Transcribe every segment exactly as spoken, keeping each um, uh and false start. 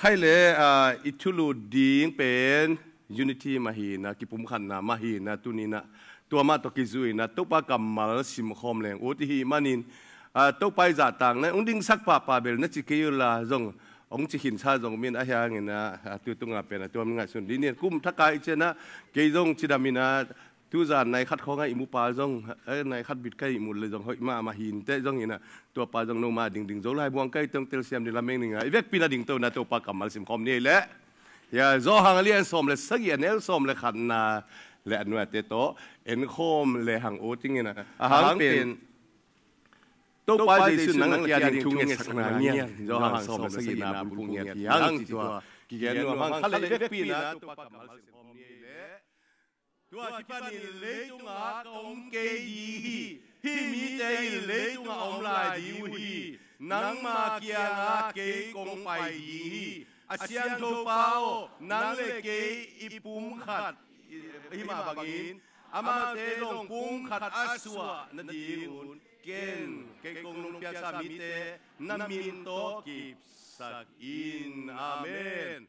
Khaile, ah, i thulu ding pen unity mah hi-in ah, kipumkhatna mah hi-in ah, tuni-in ah tua mah tawh kizui-in ah Topa kammal simkhawm leng ut i hih manin, ah, Topa i zahtakna hong dingsak pahpah bel na ci kei uh la zong, hong ci khinsa zong om in, ahi hangin ah, ah, tu tungah pen ah tua mi ngaihsun dih ni. Kum thak a i ciang ah kei zong cidam in ah, tuzan nai khat khawng ah ihmu pa zong, eh, nai khat bit ka ihmu leh zong hoih mahmah hi inteh zongin ah, tua pa zong nomau a dingding Zolai buang ka hi teh hong telsiam ding lamen ning a, i vekpi-in ah dingto-in ah Topa kammal simkhawm ni leh. Hia, Johan a lian sawm le sagih, a neu sawm le khatna le a nuate tawh enkhawm lehang ut ing in ah, a hang pen Topa Jesu in nang le kei a ding thu ngetsakna ngiat, Johan sawm le sagihna bulphuh ngiat hi hang, ci tua kigen nuam hang. Khaile, i vekpi-in ah Topa kammal simkhawm ni leh. Tua kipanin leitungah ka om kei ding hi. Hih mite in leitungah om lai ding uh hi. Nangma kiangah kei kong pai ding hi. A siangtho Pa aw, nang le kei i pumkhat hi mah bangin, amaute zong pumkhat a suah nadingun ken, kei kong nong piaksa mite na min tawh kipsak in. Amen.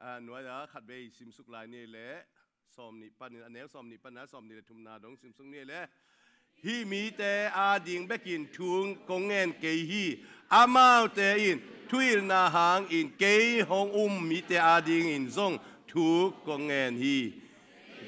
A nuai-a khatvei simsuk lai ni leh, sawmnih panin, a neu sawmnih panin ah sawmnih le thumna dong simsuk ni leh. Hih mite ading bekin thu kong ngen kei hi. Amaute in thuhilhna hangin kei hong um mite adingin zong thu kong ngen hi.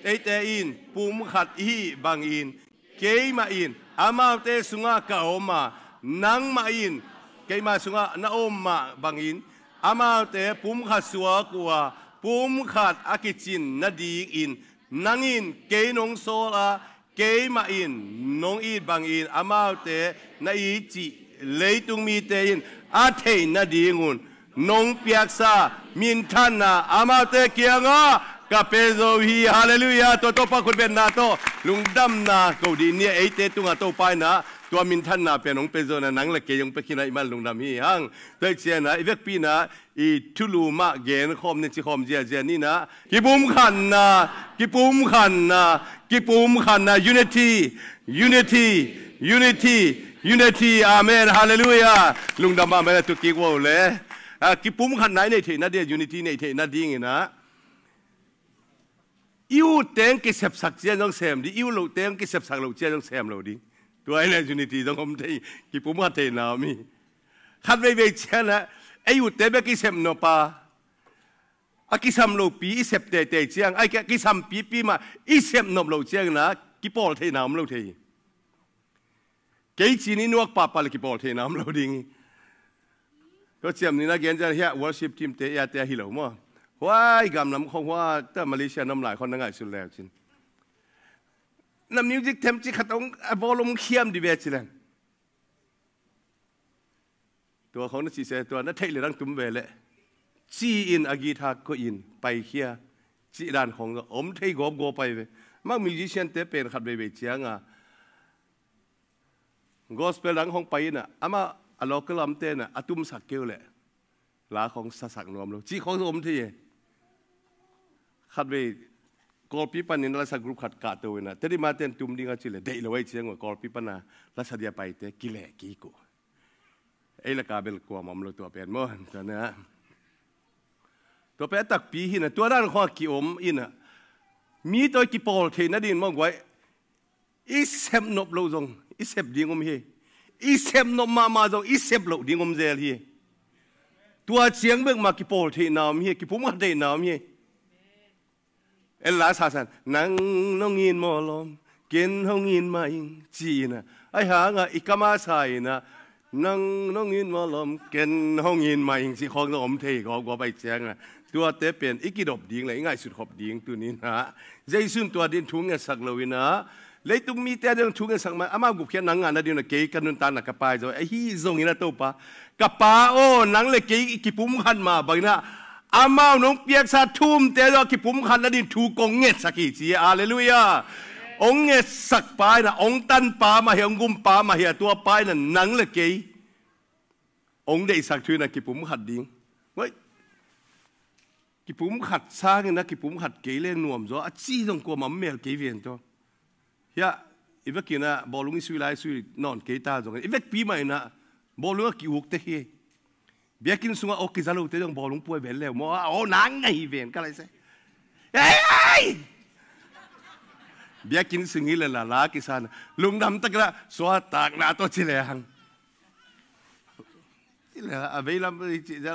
Eite in pumkhat i hih bangin, keimah in amaute sungah ka om a, nangmah in keima sungah na om mah bangin, amaute pumkhat suak uh a, pumkhat a kicin nadingin, nang in kei nong sawl a, keimah in nong it bangin amaute na it cih leitung mite in a theih nadingun nong piaksa minthanna amaute kiangah ka pia zo hi. Halleluiah. Tua Topa khutbetna tawh lungdamna ko dih ni. Eite tungah Topa in ah tua minthanna pen hong pia zo-in ah, nang le kei hong pia khin ahih man lungdam hi hang. Tua ahih ciangin ah i vekpi-in ah i thulu mah genkhawm ni, cikhawm ziazia ni in ah, kipumkhatna, kipumkhatna, kipumkhatna, unity, unity, unity, unity. Amen. Halleluiah. Lungdam, amen. A tu kik uh le, ah, kipumkhatna i neih theih nading, unity i neih theih nadingin ah, i ut teng kisepsak ciang zong sem ding, i ut loh teng kisepsak loh ciang zong sem lo ding. Tua hi leh unity zong om thei, kipumkhat theihna om hi. Khat veivei ciang ah ei utte bek i sep nop a, a kisam lopi i sep teitei ciang, a kisam pipi mah i sep nop loh ciangin ah kipawl theihna om lo thei hi. Kei ci-in i nuak pahpah leh kipawl theihna om lo ding hi. Tua ciam ni in ah gen ciang, hiah worship team te, i a te ahi lo maw. Huai gamlam khong hua, tua Malaysia na om lai khong na ngaihsun le uh cin, na music them ci khat hong, a volume khiam dih ve ci leng. Tua khong na cih se, tua na theih leh dang tum ve leh, ci-in a guitar koih in paikhia cih dan khong om thei gawpgawp pai ve. Amau musician te pen khat veivei ciang a gospel dang khong pai in ah, amah a local lamte in ah a tumsak kei uh leh la khong sasak nuam lo cih khong om thei hi. Khatvei Kawlpi panin lasa group khat kahto in ah, Tedim a ten tum ding a ci leh deih lo ahih ciang uh, Kawlpi pan a lasa dia paite kileh kik uh. Ei lak a bel kuamah om lo tua pen maw. Tua pen a takpi hi in ah, tua dan khong a kiom in ah, mi tawh i kipawl theih nading maw guai. I sep nop loh zong i sep ding om hi. I sep nop mahmah zong i sep loh ding om zel hi. Tua ciang bek mah kipawl theihna om hi, kipumkhat theihna om hi. Ella sasan, nang nong it mawlawm, ken hong it mah ing, ci-in ah, ahih hang a i kam a sa in ah, nang nong it mawlawm, ken hong it mah ing, cih khong zong om thei gawpgawp ahih ciang ah, tuate pen i kidop ding leh i ngaihsut khop ding tuni in ah, Jesu in tua ding thu ngetsak lo in ah, leitung mite a ding thu ngetsak mah, amau gupkhiatna ngah nading in ah kei ka nuntakna ka pai zo, ahi zongin ah Topa, ka Pa aw, nang leh kei i kipumkhat mah bangin ah, amau nong piaksa thumte zong a kipumkhat nading thu kong ngetsak hi, ci hi. Halleluiah. Hong ngetsak pa in ah, hong tan pa mah hi a, hong gum pa mah hi a, tua pa in ah nang leh kei hong deihsak thu in ah kipumkhat ding. Kipumkhat sangin ah kipumkhat kei leh nuam zaw a ci zong kuamah om mel kei ven tawh. Hiah i vekin ah bawlung i sui lai, sui nawn kei ta zongin, i vekpi mah in ah bawlung a ki-uk tek hi. Biakinn sungah aw kiza lote zong bawlung puai ven leu maw, aw nang ngai ven ka lai se. Ei! Biakinn sung hi le la la kisan lungdam tak la suatakna tawh ci le hang. Ci le a veilam ci le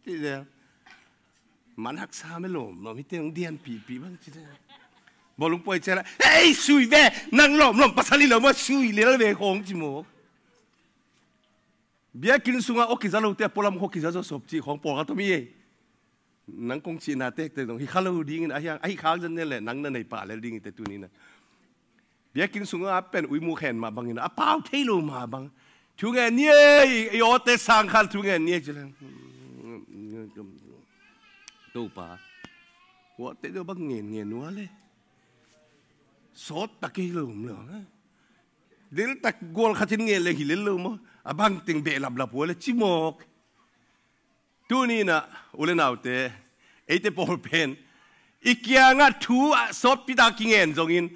ci le. Man haksa me lom lom hi teng dian pipi bang ci le. Bawlung puai ci le. Ei sui ve nang lom lom pasal hi lo maw sui lel ve khong ci maw. Biakinn sungah aw kiza lote a pualam khua kiza zaw sop cih khawng pawlkhat om hi ei. Nang kong cihna tektek zong hi kha lo dingin a hiang a hi khak zan nen le nang na nei pah lel ding hi te tuninah. Biakinn sungah a pen uimu khen mah bangin a pau thei lo mah bang. Thu ngen ni ei, i awte sang khan thu ngen ni ei ci leng. Topa. Awte deuh bang ngen ngen nua le. Sawt tak ei lo om lo. Deltak gual khatin ngen leng hi lel lo maw? A bangteng beh laplap ua le cimawk. Tuninah u le naute eite pawl pen i kiangah thu a sawtpi tak a kingen zongin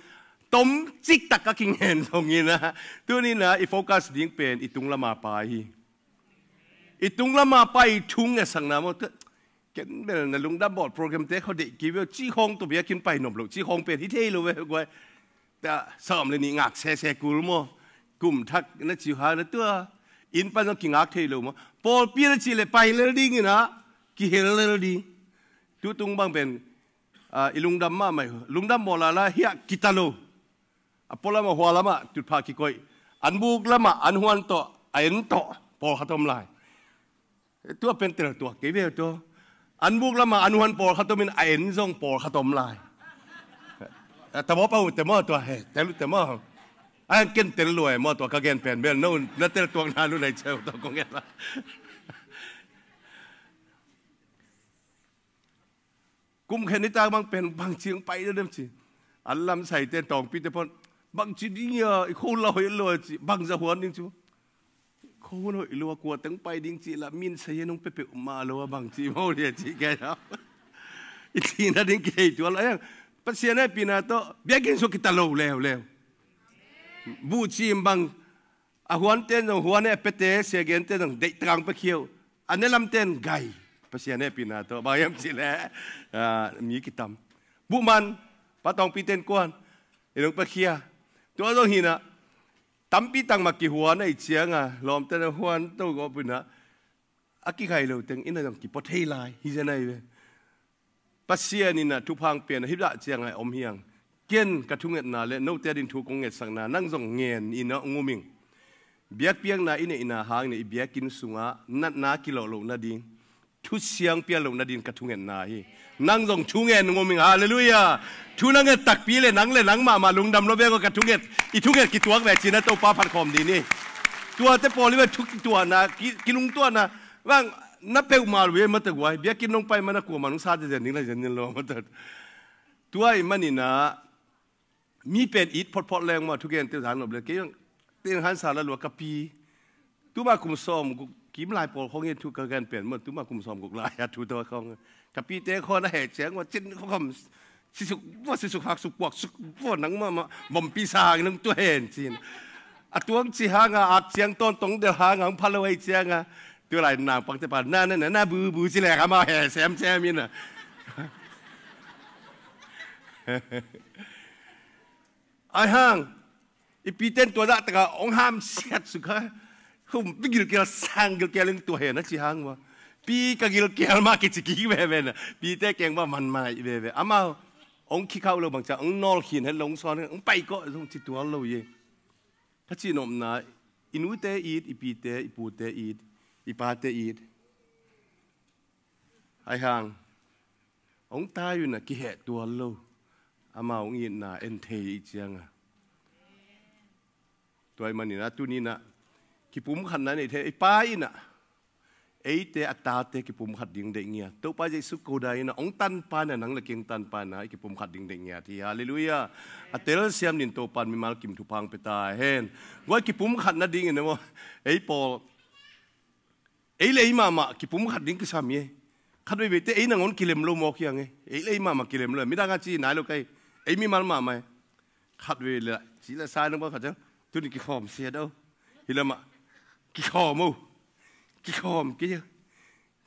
tomcik tak a kingen zongin a tuninah i focus ding pen i tung lama pai hi. I tung lama pai i thu ngesakna maw? Ken bel na lungdam bawl programte khaw deih kei veu cih khawng tawh biakinn pai nop loh cih khawng pen hi thei lo ve guai. Ta sawm le nih ngak sese kul maw? Kum thak na ci hang na tua inn pan zong kingak thei lo maw? Pawlpi na cih le pai lel dinginah kihel lel ding. Tutung bang pen i lungdam mahmah hi. Lungdam bawl lala hiah kita lo. A pualamah hualamah tutphah kikoih. An buk lamah an huan tawh a en tawh pawlkhat om lai. Tua pen teltuak kei ve tua. An buk lamah an huan pawlkhat omin a en zong pawlkhat om lai. Tabawpa uh te maw tua he tel uh te maw? A en ken tel lua e maw tua ka gen pen bel no na teltuakna lu nei ceu tua kong en la. Kum khen nitak bang pen bangci ang pai deuh dem ci. An lamsaite tawngpite pawn bangci ding ia i kho la hoih lo ci bangza huan ding ci. Kho hun hoih lo a kua teng pai ding ci la min sa ia nong pepeuh mah lo a bangci maw dia ci kei a. I cina ding kithei tual a iang Pasian e pina tawh biakinn sua kita lo leuleu. Buhcim bang a huante zong huan e a pete siagente zong deihtakang pekhia uh. A nelamten gai Pasian e pina tawh bang hiam ci le mi kitam. Buhman patawngpiten kuan i nong pekhia. Tua zong hinah tampi tangmah kihuan a i cianga lawmte na huan to gawpinah a kigai lo teng ina zong kipua thei lai hi zen ahi ve. Pasian inah thupha pian a hih dah ciangah om hiang. Ken ka thungetna le note adin thu kong ngetsakna nang zong ngen inah nguming. Biakpiakna i neihna hangin i biakinn sungah natna kilawh loh nading thusiang pial loh nading ka thungetna hi. Nang zong thungen nguming halleluiah. Thu na nget takpi le nang le nang mahmah lungdam lo vek aw ka thunget i thunget kituak ve cina Topa phatkhawm ding hi. Tuate pawl i ve thu kituahna kilungtuahna bang na peuhmah lo hi mataguai biakinn nong pai mana kuamah nong sa zezen ding la zen lo mata. Tua i maninah mi pen it photphot leng maw thugente zan nop le kei teng hansa la lua ka pi. Tuma kum sawm guk kim lai pawl khong in thu ka gen pen maw tuma kum sawm guk lai a thu taw khong ka pite khaw na he ciang maw cin khawm sisuk vua sisuk hak suk puak suk vua nang mahmah vompi sa hang nang tua hen cin. A tuang ci hanga ak ciang tawn tong del hanga hong phalo hei cianga tua lai nang pangte pa na na na na bu bu ci lek amau he sem sem in a. Ai hang i piten tua dah taka hong hamsiat sukha. Hum pi gilkial sang gilkial in tua hen a ci hang ma pi ka gilkial ma kici kik veve na pite keng ma man mai veve amau hong khikhau lo bangca hong nawl khin het lo hong sawn hong pai kawh zong ci tual lo ye. Ka cihnopna i nute it i pite i pute it i pate it. Ai hang hong tai un a kiheh tual lo amau hong itna en thei i cianga. Tua i maninah tuninah kipumkhatna nei thei i pa inah eite a tate kipumkhat ding deih ngiat Topa Jesu koda inah hong tanpa inah nang le keng tanpa inah i kipumkhat ding deih ngiat hi. Halleluiah. A telsiam din Topa in mimal kim thuphang peta hen. Guai kipumkhat nadingin emaw ei pawl ei le ei mahmah kipumkhat ding kisam hi. Khat veiveite ei nangawn kilem lo mawk hiang ei le ei mahmah kilem lo midang a ci nai lo kai ei mimal mahmah hi. Khat vei le ci le sai nang ba khat ciang tuni kikhawm siat o. Hi lamah kikhawm o. Kikhawm kei a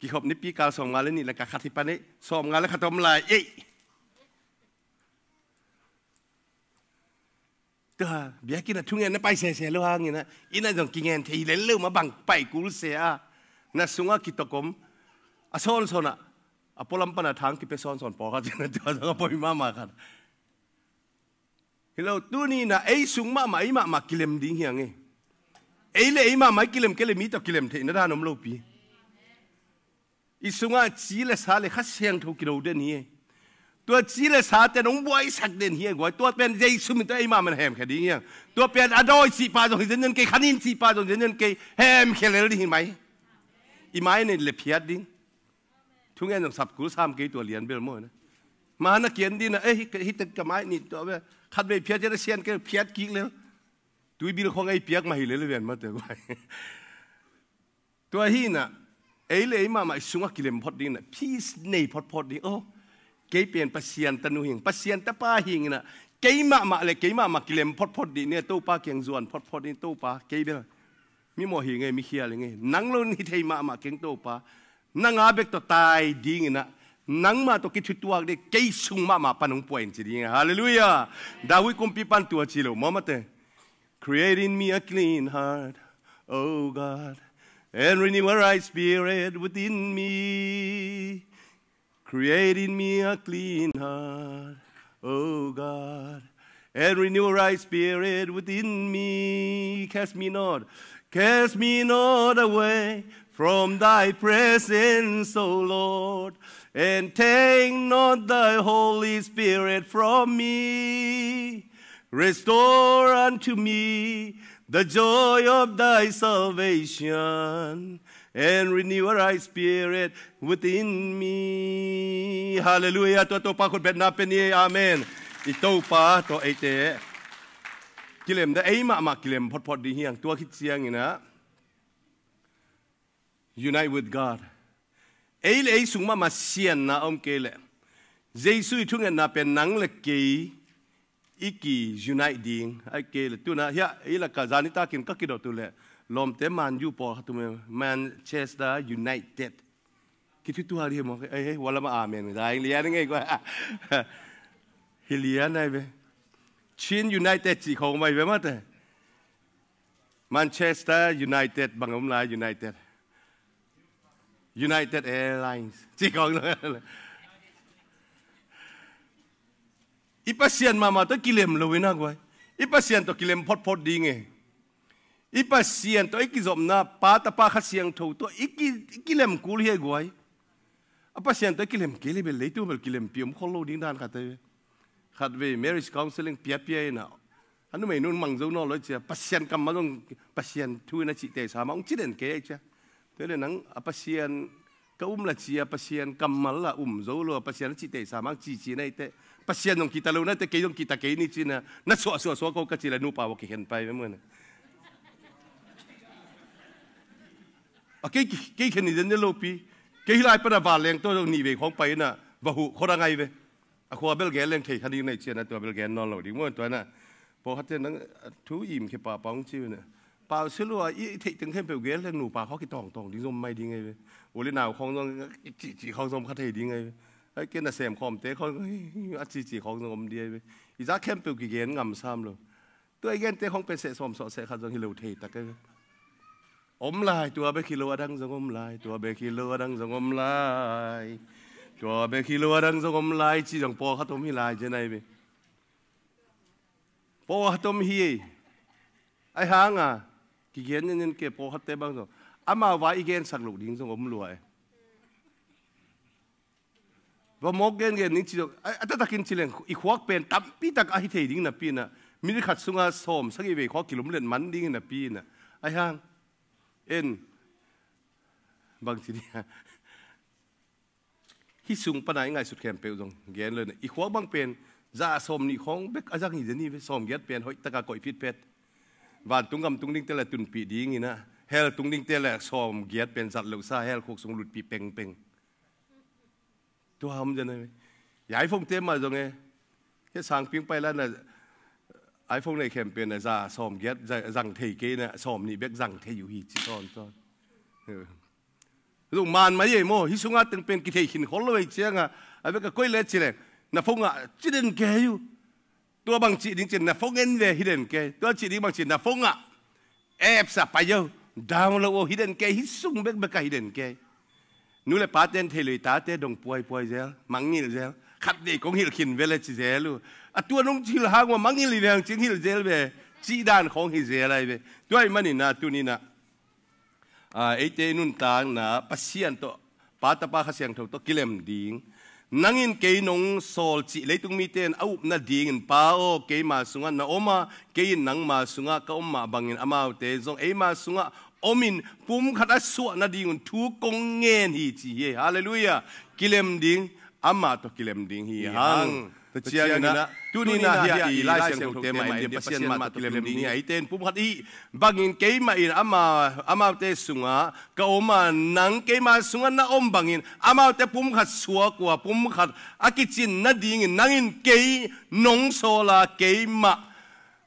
Kikhop nipi kal sawmnga le nih le ka khat hi pan ei, sawmnga le khat om lai ei. Tua biakinn ah thungen na pai sese lo hangin ah, inn ah zong kingen thei lel lo mah bang pai kul se a, na sungah kitok om a sawnsawn ah, a pualam pan a thang kipia sawnsawn pawlkhat, tua zong a poi mahmah khat. Hi lo, tuni in ah ei sung mahmah, ei mahmah kilem ding hi hang e. Ei le ei mahmah i kilem kei le mi tawh kilem theihna dan om lopi. I sungah ci le sa le Kha Siangtho kido den hi e. Tua ci le sa ten hong buaisak den hi e guai. Tua pen Jesu min tawh ei mahmah na hemkhia ding hi hang. Tua pen a dawi cih pa zong hi zenzen kei, khanin cih pa zong hi zenzen kei, hemkhia lel ding hi mai. I mai nei le phiat ding. Thungen zong sap kul sam kei tua lian bel maw na. Ma na kian ding na, eh, hih, hih tek ka mai nih tua bel. Khat vei phiat cian a sian kei phiat kik lel. Tuibil khong ei piak mah hi lel ven mah te guai. Tua hi na, ei le ei mahmah i sungah kilem phot ding na, peace nei photphot ding. Oh, kei pen Pasian tanu hing, Pasian tapa hing na, kei mahmah le kei mahmah kilem photphot ding ni, Topa kiang zuan photphot ding, Topa, kei bel mi mawh hi ngei, mi khial hi ngei, nang lo hi thei mahmah keng Topa, nang a bek tawh tai ding in ah, nangmah tawh kithutuak ding, kei sung mahmah pan hong puah in ci ding. Halleluiah. David kumpi pan tua ci lo maw mate. Create in me a clean heart, O God, and renew a right spirit within me. Create in me a clean heart, O God, and renew a right spirit within me. Cast me not, cast me not away from thy presence, O Lord, and take not thy Holy Spirit from me. Restore unto me the joy of thy salvation, and renew a right spirit within me. Halleluiah. Tua Topa khutbetna pen hi. Amen. I Topa tawh eite kilem ding, ei mahmah kilem photphot ding hi hang. Tua khit ciangin ah, unite with God. Ei le ei sung mahmah sianna om kei leh, Jesu i thungetna pen nang le kei i ki unite ding. Ai kei le tuna hiah ei laka zani takin ka kidot uh leh, lawmte Man U pawlkhat um e, Manchester United. Kithutuak ding hi maw? Ei, ei, hua lamah amen dai lian ngei kua. Hi lian ai ve. Chin United cih khawng mai ve mate. Manchester United bang om lai, United. United Airlines. Ci kong lo. I Pasian mahmah tawh kilem lo in a guai. I Pasian tawh kilem photphot ding e. I Pasian tawh i kizopna Pa, Tapa, Kha Siangtho tawh i ki, i kilem kul hi a guai. A Pasian tawh kilem kei le bel leitung bel kilempi om khol lo ding dan khat ahi ve. Khat vei marriage counseling piapia in a, a numei nun mang zo nawn lo i cia, Pasian kammal zong, Pasian thu in a cih teisa mah hong ci den kei a i cia. Tua le nang a Pasian ka um la cia, Pasian kammal la um zo lo a, Pasian a cih teisa mah hong cici na i teh. Pasian zong kita lo na i teh, kei zong kita kei ni ci na, na suah suah suah ko ka ci le nupa va kikhen pai ve muan. A kei, kei khen ni den ni lopi. Kei hi lai pan a vanleng tawh zong nih vei khawng pai in a, va huh khawng a ngai ve. A khua bel gen leng thei kha ding na i cian a, tua bel gen nawn lo ding maw tua na. Pawlkhatte nang thu im khia pahpah hong ci ve na. Pau si lua i theih teng khempeuh gen leng nupa khawng kitawngtawng ding zom mai ding ngai ve. U le nau khawng zong cihcih khawng zom kha thei ding ngai ve. Ai kei na sem khawmte khawng a cihcih khawng zong om ding ngai ve. I zak khempeuh kigen ngam sam lo. Tua i gente khong pen seh sawm sawh seh khat zong hi lo thei tak e. Om lai, tua bek hi lo a dang zong om lai, tua bek hi lo a dang zong om lai. Tua bek hi lo a dang zong om lai ci zong pawlkhat om hi lai zen ai ve. Pawlkhat om hi. Ai hanga kigen nyan nyan ke pawlkhatte bang zong amau vai i gensak loh ding zong om lua e. Va mawk gengen ning ci lo, a, a taktakin ci leng, i khuak pen tampi tak a hi thei ding napi inah, minute khat sunga sawm sagih vei khawng kilumlet man ding hi napi inah, a hiang, en, bang ci ding a, hih sung pana i ngaihsut khempeuh zong gen lo inah, i khuak bang pen, za sawm nih khawng bek a zang hi deni ve, sawm giat pen hoih taka koih phitphet. Vantung gam tung dingte le tunpih ding inah, hell tung dingte le sawm giat pen zat lohsa, hell khuk sung lutpih pengpeng. Tua om zen a, i iPhone te mah zong e. Kei sangping pai la na iPhone nei khempeuh na za sawm giat za-, zang thei kei na sawm nih bek zang thei uh hi ci sawnsawn. Zong man mai ei maw, hih sungah teng pen kithei khin khol lo ei cianga, a vek a koi le ci leng, na phone ah ci den kei uh. Tua bang cih ding cin na phone en ve hi den kei. Tua cih ding bang cin na phone ah apps ah pai uh, download uh hi den kei, hih sung bekbek ah hi den kei. Nu le pa ten thei lo i tate dong puaipuai zel, mangngilh zel. Khat vei kong hilh khin ve le ci zel uh. A tua nong hilh hang uh a mangngilh hi ve hang cin hilh zel ve. Cih dan khawng hi zel ai ve. Tua ahih manin ah tuni-in ah, a, eite i nuntakna Pasian tawh, Pa, Tapa, Kha Siangtho tawh kilem ding. Nang in kei nong sawl cih leitung mite in a up nadingin, Pa aw, keima sungah na om a, kei in nangma sungah ka om mah bangin amaute zong eima sungah omin pumkhat a suah nadingun thu kong ngen hi ci hi. Halleluiah. Kilem ding, amah tawh kilem ding hi hang. Tua ciangin ah tuni-in ah hiah i Lai Siangthote mah en ding, Pasian mah tawh kilem ding hi. Eite in pumkhat i hih bangin keimah in ama, amaute sungah ka om a, nang keima sungah na om bangin amaute pumkhat suak uh a, pumkhat a kicin nadingin nang in kei nong sawl a, keimah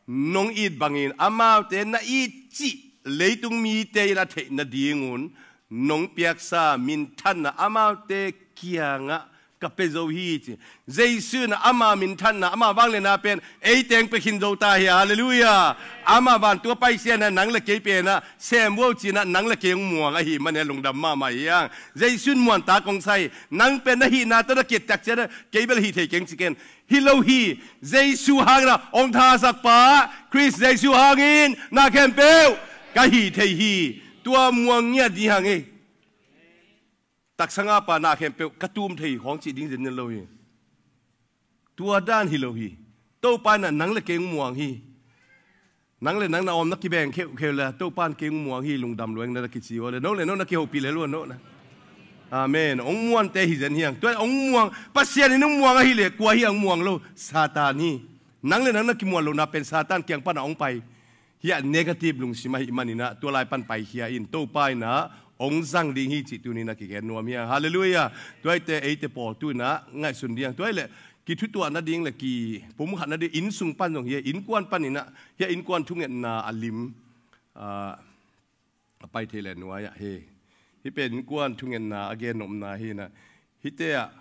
nong it bangin amaute na it cih leitung mite in a theih nadingun nong piaksa minthanna amaute kiangah ka pia zo hi ci. Jesu in ama minthanna, ama vangliatna pen eite hong pia khin zo ta hi. Halleluiah. Ama vantung a paisiatna nang le kei pen ah sem uh ci-in ah nang le kei hong muang ahih manin ah lungdam mahmah hi hang. Jesu in muantak hong sa hi. Nang pen na hihna tawh na ki-et tak ciangin ah kei bel hih thei keng ci ken. Hi lo hi. Jesu hangin ah hong thahatsak pa, Khrist Jesu hangin na khempeuh ka hih thei hi. Tua muang ngiat ding hang ei. Taksa ngah pa na khempeuh ka tum thei khawng cih ding zen lo hi. Tua dan hi lo hi. Topa in ah nang le kei hong muang hi. Nang le nang na om na kibeng kheuhkheuh le Topa in kei hong muang hi, lungdam lua ing na kici uh le, no le no na kihopih le lua no na. Amen. Hong muante hi zen hi hang. Tua hong muang, Pasian in hong muang ahih leh kua hi hang muang lo? Satan hi. Nang le nang na kimuan lohna pen Satan kiang pan ah hong pai. Hiah negative lungsim ahih manin ah tua lai pan paikhia in, Topa in ah hong zang ding hi cih tuni-in ah kigen nuam hi hang. Halleluiah. Tua ahih teh eite pawl tu-in ah ngaihsun ding hang. Tua ahih leh kithutuah nading le kipumkhat nading inn sung pan zong hi a, innkuan panin ah, hiah innkuan thungetna a lim, ah, a pai thei le nuai ah hi. Hih pen innkuan thungetna a gen nopna hi-in ah, hihte ah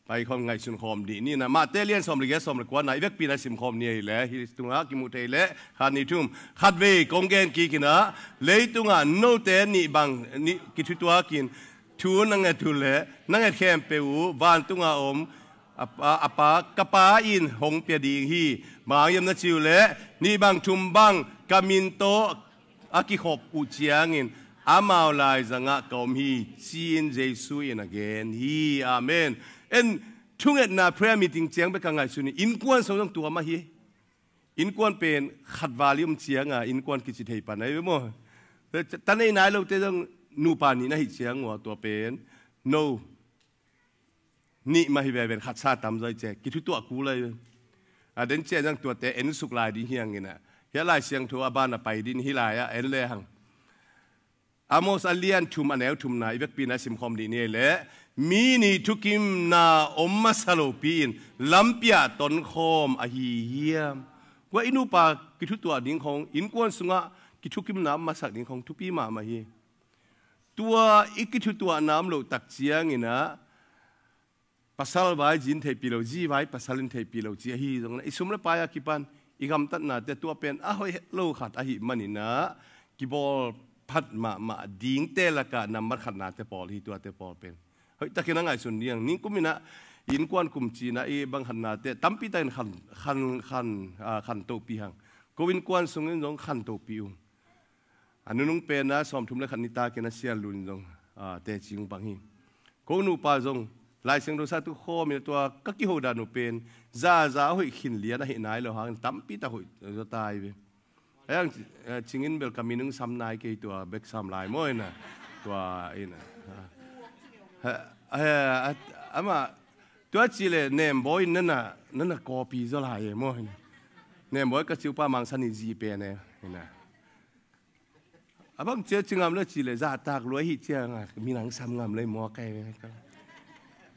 pai khawm ngaihsun khawm dih ni-in ah, Mate lian sawm le giat, sawm le kuana i vekpi-in ah sim khawm ni ahih leh, hih tungah kimuh thei leh khat, nih, thum. Khatvei kong gen kik in ah, leitungah note nih bang nih kithutuak in thu na nget uh leh na nget khempeuh uh vantung a om a, a, a Pa, ka Pa in hong pia ding hi. Bang hang hiam na cih uh leh, nih bang thum bang ka min tawh a kikhop uh ciangin amau laizangah ka om hi, ci-in Jesu in a gen hi. Amen. En, thungetna prayer meeting ciang bek a ngaihsun in, innkuan sung zong tua mah hi. Innkuan pen khat val i om cianga innkuan kici thei pan ahi ve maw? Tan ei nai lote zong nupa nih na hih ciang uh a, tua pen no, nih mah hi veve in khat sa tam zaw hi ci a, kithutuah kul ahi ve. A, den ciang zong tuate ensuk lai ding hi hang in ah, hiah Lai Siangtho a ban a pai ding hi lai ah en le hang. Amos a lian thum a neu thumna i vekpi-in ah simkhawm dih ni leh, mi nih thukimna om masa lopi-in lampi ah tonkhawm ahi hiam? Kua i nupa kithutuah ding khawng, innkuan sungah kithukimna om masak ding khawng thupi mahmah hi. Tua i kithutuahna om loh tak ciangin ah, pasal vai zi in theihpih lo, zi vai pasal in theihpih lo ci ahi zongin ah, i sum le pai a kipan i gamtatnate tua pen a hoih het lo khat ahih manin ah, kibawl phat mahmah dingte lakah nambat khatnate pawl hi. Tuate pawl pen hoihtakin a ngaihsun ding hang. Ningkum in ah, i innkuan kum ci-in ah i bang khatnate tampi takin khan, khan, khan, ah, khantohpih hang. Ko innkuan sungin zong khantohpih uh. A nunung pen ah sawmthum le khat nitakin a sial lun zong, ah, teci ung bang hi. Ko nupa zong Lai Siangtho sa tu khawm in ah, tua ka kiho dan uh pen zaza a hoih khin lian ahih nai lo hangin tampi tak hoih zaw ta hi ve. Ahi hang, eh, Cing in bel ka min ung sam nai kei, tua bek sam lai maw in ah. Tua in ah. Ah, ah, ah, amah, tua ci leh Nembawi in na na, na na copy zaw lai e maw in ah. Nembawi ka ci uh pa Mang San in zi pen e in ah. A bang cia ci ngam le ci leh zahtak lua hi ciang a, minang sam ngam le maw kai ve.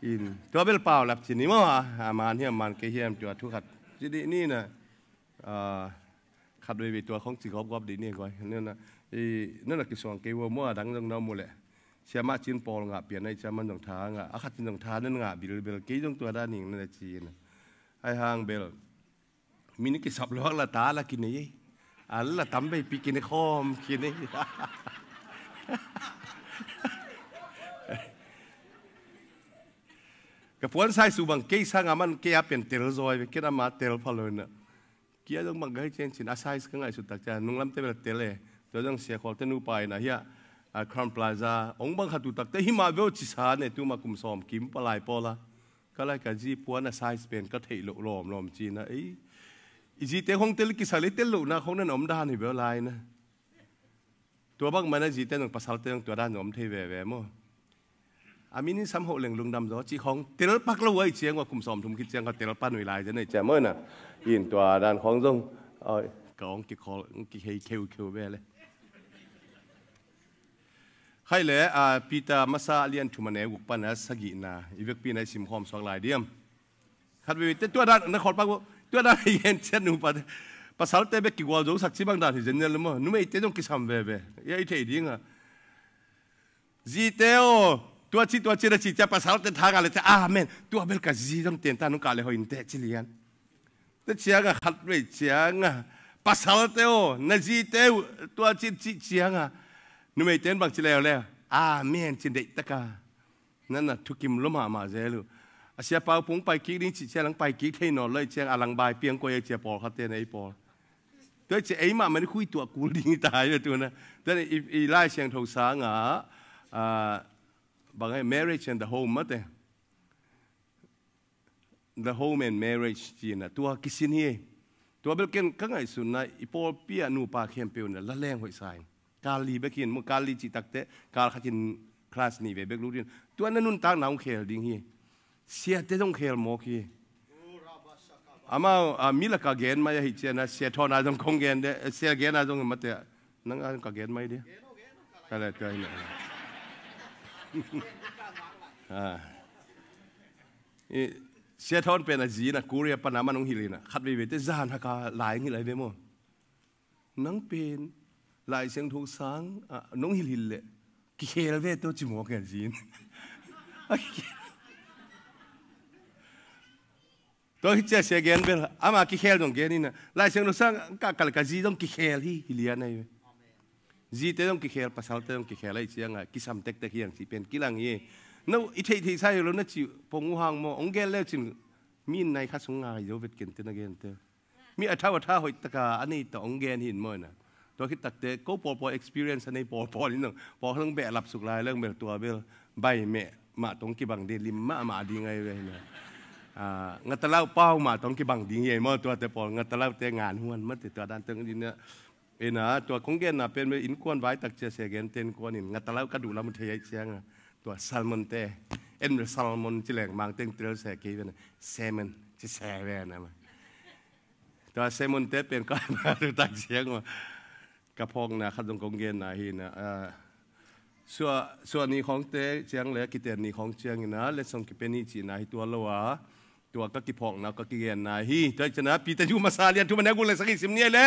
In, tua bel paulap ci ni maw a, a man hi a man kei hiam tua thu khat ci dih ni na, a, khat veve tua khong ci gawpgawp dih ni guai. Nana, i, nana kisuang kei ua maw a dang zong na mu leh. Siamah cin pawl ngah pian ahi ciang man zong tha ngah, a khat in zong tha nan ngah bilbel, kei zong tua dan ning na ci na. Ahi hang bel mi na kisap luak la ta la kinei ei. A la tam vei pi kinei khawm kinei. Ka puan size uh bang kei sang a man kei a pian tel zawi ve, ken ama tel pha lo na. Kia zong bang ka hi ciang cin a size ka ngaihsut tak ciang nunglamte bel tel e. Tua zong Sia Khawl te nupa in a hiah, a, Crown Plaza ong bang khat uh takte himah veu ci sa ne, tuma kum sawm kim palai pawla. Ka lai ka zi puan a size pen ka theih loh lawmlawm cina ei. I zite khong tel kisai lei tel lohna khong nan om dan hi veu lai na. Tua bang mana zite nong pasalte nong tua dan nong om thei veve maw? A min in sam hoh leng lungdam zaw cih khong tel pak lo uh ahi ciang ua kum sawm thum khit ciang ka tel pan uh i lai zen ahi ciang maw na. In tua dan khong zong, oi, ka ong kikhol, ong kihei kheukheu ve le. Khai le, a, Peter masa a lian thum a neu guk pan a sagihna i vekpi na i simkhawm suak lai diam? Khat veve te tua dan na khawl pak uh, tua dan i gen ciat nupa te. Pasalte bek kigual zo sak ci bang dan hi zen nial maw? Numeite zong kisam veve. Ia i thei ding a. Zite aw, tua ci, tua ci na ci cia pasalte tha ngah le cia, amen. Tua bel ka zi zong ten ta nung kah le hoih in teh ci lian. Te ciang a khat vei ciang a, pasalte aw, na zite uh, tua ci ci ciang a, numeite in bang ci leuleu, amen ci deih taka. Nan a thukim lua mahmah zel uh. A sia pau pung pai kik ding ci ciang lang pai kik thei nawn lo i ciang a lang bai piang koi a cia pawlkhatte na ei pawl. Tua cia ei mahmah ni khui tuah kul ding i tai ve tuna. Tua i, i Lai Siangtho sang a, a, bang e, Marriage and the Home mate. The Home and Marriage cina tua kisin hi. Tua bel ken ka ngaihsutna i pawlpi a nupa khempeuh na la leng hoih sa in. Kal li bekin mu kal li cih takte kal khatin class nih ve bek lutin. Tua na nuntakna hong khel ding hi. Siate zong khel mawk hi. Amau, a, mi laka gen mai ahi ciana, sia thawn a zong kong gen de, sia gen a zong mate, nang a zong ka gen mai de. Ka le tua hi na. A. I, sia thawn pen a zi na, Korea pan a man hong hilh hi na, khat veve te zan haka lai hong hilh ahi ve maw. Nang pen Lai Siangtho sang, a, nong hilhhilh leh kikhel ve tawh ci mawk e zin. Tua hi cia sia gen bel ama kikhel zong gen ina, Lai Siangtho sang ka kal ka zi zong kikhel hi, hi lian ahi ve. Zite zong kikhel, pasalte zong kikhel ahi cianga kisam tektek hiang ci pen kilang hi. No i theihtheih sa hi lo na ci pong uh hang maw, ong gen leu cin mi in nai kha sung ngai zo vet ken te na gen te. Mi a thau a tha hoih taka a nei ta ong gen hin maw ina. Tua khit takte ko pawlpawl experience a nei pawlpawl in zong pawlkhat zong behlap suk lai leng bel tua bel bai meh mah tong kibang ding lim mahmah ding ahi ve hina. A, ngatalau pau mah tong kibang ding hi maw tuate pawl, ngatalaute ngan huan mate tua dan teng dina. Ina tua kong genna pen bel innkuan vai tak cia sia gen te innkuan in ngatalau ka duh lam uh thei ahi cianga tua salmon te en bel salmon ci leng mang teng tel se kei ve na salmon ci se ve na ma. Tua semunte pen ka ma tu tak ciang uh. Ka phawkna khat zong kong genna hi na, a, sua, sua ni khawngte ciang le kiten ni khawng ciang ina letsong kipe ni cihna hi tua lo a. Tua ka kiphawkna ka kigenna hi. Tua i ciana Peter ju masa lian thum a neu guk le sagih sim ni le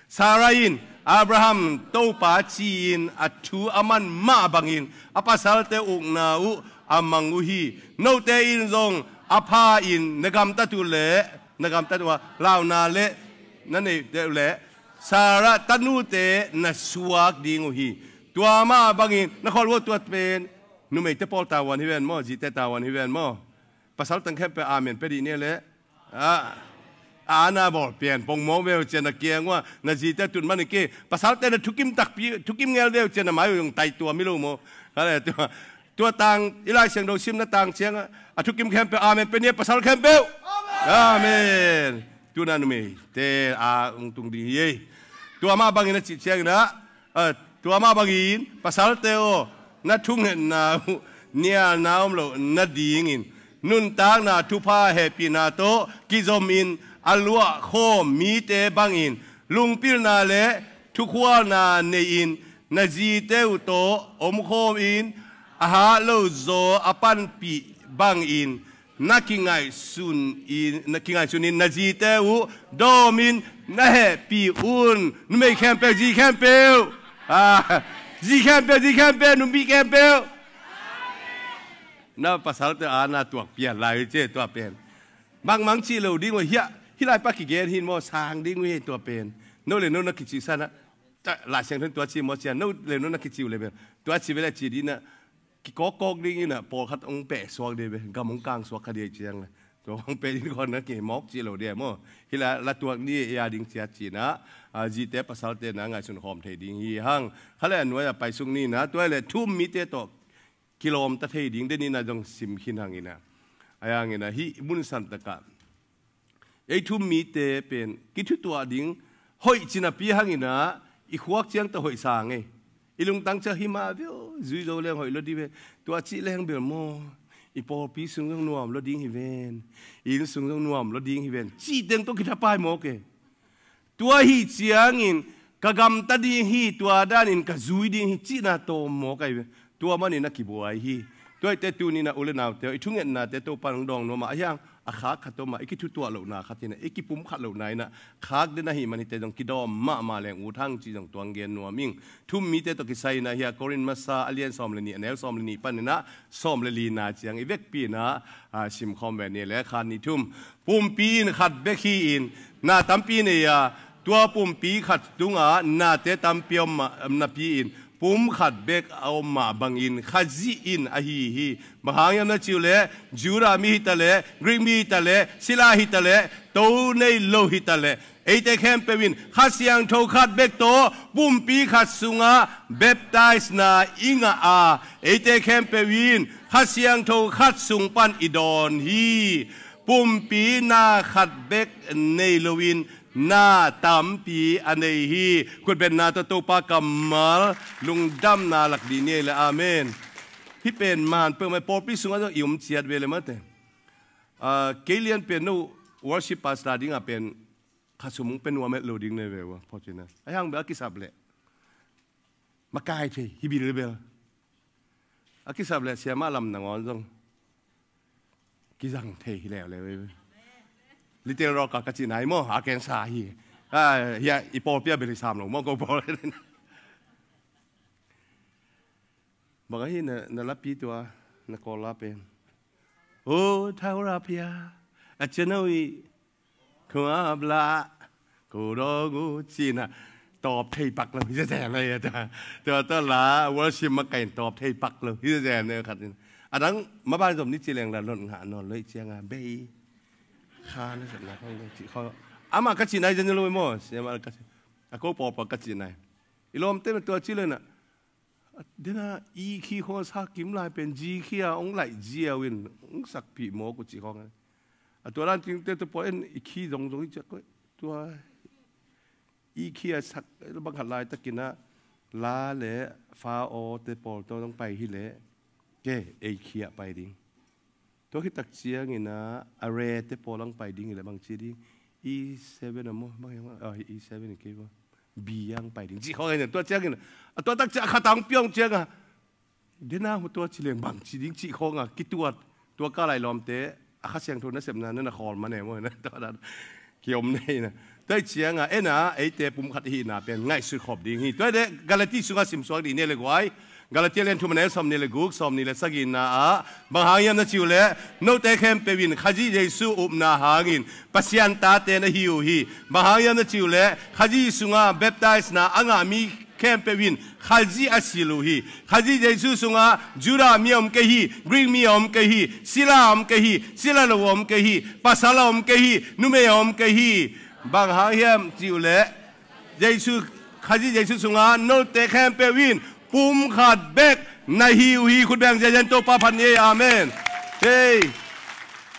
Sarah in Abraham Topa ci-in a thu a man mah bangin a pasalte ukna uh a mang uh hi. Note in zong a pha in na gamtat uh le na gamtat uh a launa le na neih deuh le Sarah tanute na suak ding uh hi. Tua mah bangin na kholh uh tua pen numeite pawl tavuan hi ven maw, zite tavuan hi ven maw. Pasal tang khempeuh amen pe dih ni le. A, a na bawl pian pong mawk veu cian na kiang uh a na zite tut man i ki. Pasalte na thukim takpi thukim ngel veu cian na mai uh zong tai tua mi lo maw. Hale tua. Tua tang i Lai Siangtho simna tang ciang a thukim khempeuh amen pe ni a pasal khempeuh. Amen. Tuna numeite a ung tung ding hi ei. Tua mah bangin a cih ciangin a, a, tua mah bangin pasalte aw na thungetna uh nialna om loh nadingin nuntakna thupha hehpihna tawh kizomin a luahkhawm mite bangin lungpilna le thukhualna nei-in na zite uh tawh omkhawmin a hah lo zaw a panpih bangin na kingaihsun in, na kingaihsun in na zite uh dawmin na hehpih un. Numei khempeuh, zi khempeuh, a, zi khempeuh, zi khempeuh, numei khempeuh. Na pasalte a na tuak pian lai uh ci e, tua pen. Bangmang cih lo ding uh hiah, hih lai pa kigen hi maw, sang ding uh hi tua pen. No le no na kicihsan ah, Lai Siangtho in tua ci maw ci a, no le no na kicih uh le pen. Tua ci ve le ci ding in ah, kikawkkawk ding in ah, pawlkhat hong pehsuak ding ve, gam hong kangsuak kha ding ciang le. Tua hong peh ding khawn na kimawk cih lo ding maw. Hih lai la tuak ni e a ding ciat ci in ah, a, zite pasalte na ngaihsun khawm thei ding hi hang. Kha le a nuai a paisuk ni in ah, tua le thu-um mite tawh kilawmta thei ding, den in ah zong sim khin hang in ah. A yang in ah hih mun san tak ah ei thu-um mite pen kithutuah ding hoih cinapi hang in ah, i khuak ciang tawh hoih sang ei. I lungtang ciang hi mah ve aw, zui zo leng hoih lo ding ve. Tua cih leng bel maw, i pawlpi sung zong nuam lo ding hi ven, i inn sung zong nuam lo ding hi ven, cih teng tawh kithapai mawk e. Tua hi ciangin ka gamta ding hi, tua danin ka zui ding hi cihna tawm mawk ahi ve. Tua manin a kibuai hi. Tua ahite tuni in ah u le naute aw, i thungetnate Topa in hong dawng nuam a, a hiang a khak khat om a, i kithutuah lohna khat in ah, i kipumkhat lohna in ah khak den ahih man hite zong kidawm mahmah leng ut hang cih zong tuang gen nuam ing. Thu-um mite tawh kisai in ah hih a Korin masa a lian sawm le nih, a neu sawm le nih pan in ah sawm le lina ciang i vekpi in ah, a, simkhawm ve ni le khan ni thum. Pumpi in khat bek hi-in na tampi nei a, tua pumpi khat tungah nate tampi om mah napi-in pum khat bek a om mah bangin Khazih in ahi hi. Bang hang hiam na cih uh leh, Judah mi hi ta leh, Greek mi hi ta leh, sila hi ta leh, to nei lo hi ta leh, eite khempeuh in Kha Siangtho khat bek tawh pumpi khat sungah baptisena i ngah a, eite khempeuh in Kha Siangtho khat sung pan i dawn hi. Pumpi na khat bek nei loin na tampi a nei hi. Khutbetna tawh Topa kammal lungdamna lak dih ni ei le, amen. Hih pen man peuhmah i pawlpi sungah zong i om ciat ve le mate. Ah, kei lian pen no worship pastor dingah pen kha sum hong pia nuam het lo ding nei ve ua, phawk cihna. A hiang bel a kisap leh makai thei hi bil bel. A kisap leh siamah lam nangawn zong kizang thei hi leuleu ei. Little Rock ah ka cih nai maw, a kensa hi. Ah, hiah i pawlpi ah bel hi sam lo maw, ko pawl. Bang ahi na, na lapi tua, na Kawl la pen. O, thau ra pia. A channel i Khuap lah, ko dawng uh, ci-in ah tawp thei pak lo hi zenzen lo hi a. Tua, tua, tua la worship makaih in tawp thei pak lo hi zenzen lo khat in. A dang maban zom ni ci leng la lot ngah nawn lo hi ciang a, bei kha na zatna khawng lo cih khawng. Amah ka cih nai zen lo maw, siamah ka cih. A ko pawlpawl ka cih nai. I lawmte mah tua ci lo in ah, dena i khi khawng a sa kim lai pen ji khi a hong laih ziau in hong sakpih mawk uh cih khawng. A tua dan cingte tua pawl en i khi zongzong i ciak koih. Tua i khi a sak bang khat laitakin ah la le fa aw te pawl tawh hong pai hi leh, ke ei khi ah pai ding. Tua khit tak ciangin ah a re te pawl hong pai ding hi leh bang ci ding, E seven a maw, bang hiam a, ah, E seven in kei maw, B a hong pai ding cih khawng ahi na. Tua ciangin a tua tak ciang a khat a hong piang ciang a, dena hu tua ci leng bang ci ding cih khawng a kituat. Tua ka lai lawmte a Kha Siangtho nasepna na na khawl man e maw, na tua dan kiom nei na. Tua hi ciang a en a eite pum khat i hihna pen ngaihsut khop ding hi. Tua hi leh Galati sungah simsuak dih ni le guai. Galati lian thum a neu sawmnih le guk, sawmnih le sagihna ah bang hang hiam na cih uh leh, note khempeuh in Khazih Jesu upna hangin Pasian tate na hi uh hi. Bang hang hiam na cih uh leh, Khazih sungah baptisena a ngah mi khempeuh in Khazih a silh uh hi. Khazih Jesu sungah Judah mi a om kei hi, Greek mi a om kei hi, sila a om kei hi, sila lo a om kei hi, pasal a om kei hi, numei a om kei hi. Bang hang hiam cih uh leh, Jesu, Khazih Jesu sungah note khempeuh in pum khat bek na hi uh hi. Khut beng ziahziah in Topa phat ni ei. Amen. Hei,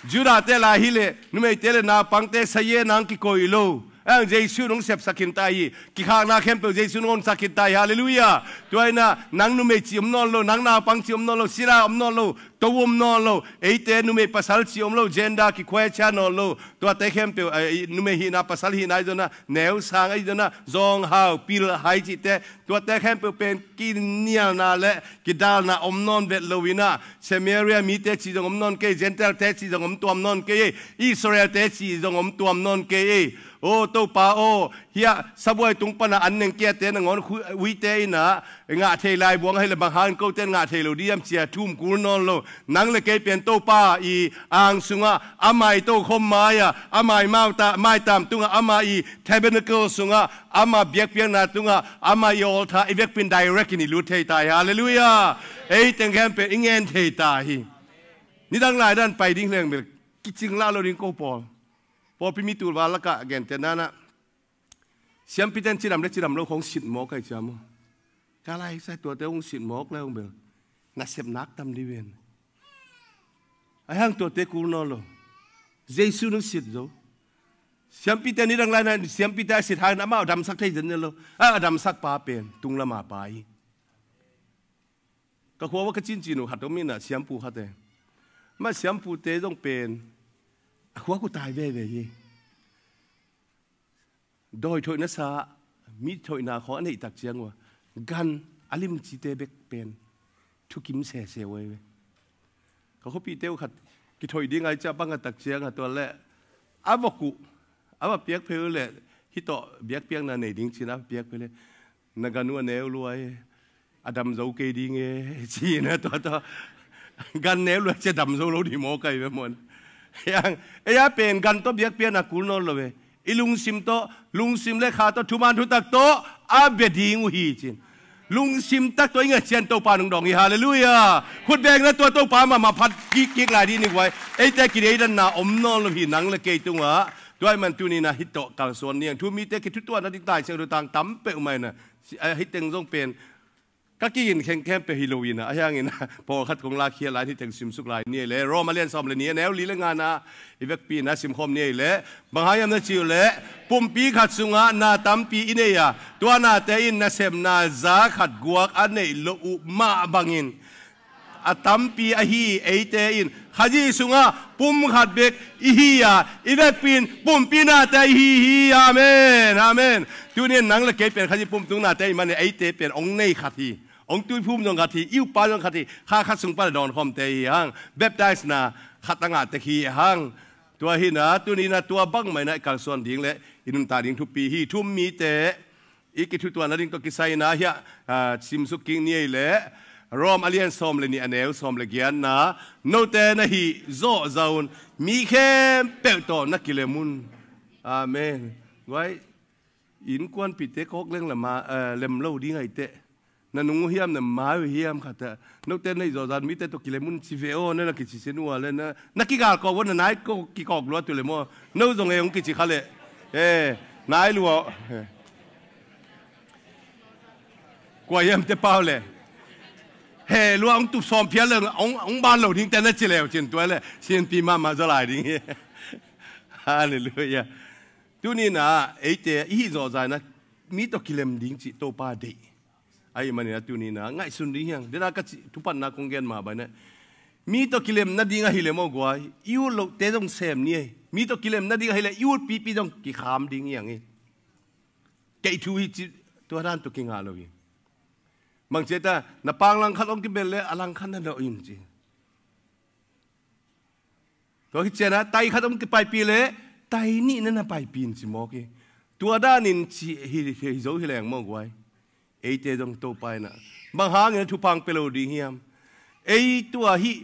Judah te lai hi leh, numeite le naupangte saye nang kikoih lo. Ang Jesu nong sepsak khin ta hi. Kikhakna khempeuh Jesu nong honsak khin ta hi. Halleluiah. Tua hi na, nang numei cih om nawn lo, nang naupang cih om nawn lo, sila om nawn lo, to om nawn lo, eite numei pasal cih om lo, gender kikhuai cia nawn lo, tuate khempeuh, eh, numei hihna pasal hihna ahi zongin ah, neu sang ahi zongin ah, zawng hau pil hai cihte, tuate khempeuh pen kinialna le kidalna om nawn vet lo in ah, Samaria mite cih zong om nawn kei, Gentile te cih zong om tuam nawn kei, Israel te cih zong om tuam nawn kei. O Topa aw, Hiah sabuai tung pana an neng kiate nangawn uite inah ngah thei lai buang ahileh bang hangin kote ngah thei lo diam cia thum kul nawn lo. Nang le kei pen Topa i ang sungah ama i tokhom mai-ah ama i maitam tungah ama i tabernacle sungah ama biakpiakna tungah ama i altar i vekpin direct in i lut thei ta hi. Halleluiah. Ei teng khempeuh i ngen thei ta hi. Nidang lai dan pai ding leng bel kicing lah lo ding ko pawl. Pawlpi mi tulva lakah gentehna nah siampite in cidam le cidam lo khong sit mawk ahi ciam uh. Ka lai sai tuate hong sit mawk le hong bel nasep nak tam di ven. Ahi hang tuate kul nawn lo. Jesu nung sit zo. Siampite nidang lai nah siampite a sit hangin amah a damsak thei zen lo. A damsak pa pen tung lama pa hi. Ka khua ua ka cincin uh khat om inah siampu khat e. Mah siampute zong pen a khua ku tai veve hi. Dawi thoihna sa mi thoihna khawng a neihtak ciang ua gan a limcite bek pen thukim sese uh ahi ve. Ka khuapihte uh khat kithoih ding ahi ciah bang a tak ciang a tuan leh a vok uh a va piak phei uh leh hitawh biakpiakna nei ding cin a va piak phei leh na gan uh a neu luai a dam zo kei ding e ci na tua tua gan neu luai cia dam zo lo ding maw kai ve mawn. Ei a pen gan tawh biakpiakna kul nawn lo ve. I lungsim tawh lungsim le kha tawh thuman thutak tawh a bia ding uh hi cin. Lungsim tak tawh i ngat cian Topa nung dawng hi. Halleluiah. Khutbengna tua Topa mahmah phat kikkik lai dih ni guai. Eite kideidanna om nawn lo hi nang le kei tungah. Tua ahih man tuni na hih tawh kalsuan niang thu mite kithutuahna ding tai siang dutang tam peuh mai na. Hih teng zong pen ka kiin khengkhem peuh hi lo ina a hiangin pawlkhat kong lakhiat lai hih teng simsuk lai ni ei le Rom a lian sawm le ni a neu li le ngana i vekpi na simkhawm ni ei le bang hang hiam na ci uh leh pumpi khat sungah na tampi i nei a tua nate in nasepna za khat guak a neih loh uh mah bangin a tampi ahi eite in Khazih sungah pum khat bek i hi a i vekpi in pumpi nate i hi hi. Amen, amen. Tuni in nang le kei pen Khazih pumtung nate i man in eite pen ong nei khat hi. Ong tuiphum zong khat hi, i upa zong khat hi, kha khat sung pan a dawnkhawmte hi hang. Baptize na khat a ngah tek hi hang. Tua hi na tuni na tua bangmah ina i kalsuan ding le i nuntak ding thupi hi. Thu mite i kithutuahna ding tawh kisai na hiah simsuk kik ni ei le Rom a lian sawm le nih a neu sawm le giatna note na hih zawh zaun mi khempeuh tawh na kilem un. Amen. Guai innkuanpihte kawk leng lem lo ding ahi teh. Na nung uh hiam, na mai uh hiam khat ah note na hih zawhzan mite tawh kilem un ci ve aw na na kici sin uh a le na kigal kawk uh a na nai kikawk lua tu le maw? No zong e hong kici kha leh e nai lua. Kua hiam te pau le he lua hong tup sawm phial le hong ban lo ding te na ci leu cin tua le sinpi mahmah zaw lai ding hi. Halleluiah. Tuni na eite i hih zawhzan na mi tawh kilem ding cih Topa deih. Ahi manin a tuni na ngaihsun ding hiang dena ka cih thupatna kong gen mah bai na mi tawh kilem nading ahi le maw guai i ut lohte zong sem ni ei. Mi tawh kilem nading ahi le i ut pipi zong kikham ding hiang hi. Keih thu hi cih tua dan tawh kingah lo hi. Mangciata na pang langkhat hong kibel le a langkhat na nawh in ci. Tua hi ciana tai khat om kipaipih le tai nih na na paipih in ci mawk hi. Tua danin ci hi zo hi leng maw guai. Eite zong Topa ina bang hangin a thupang pia lo ding hiam? Ei tua hih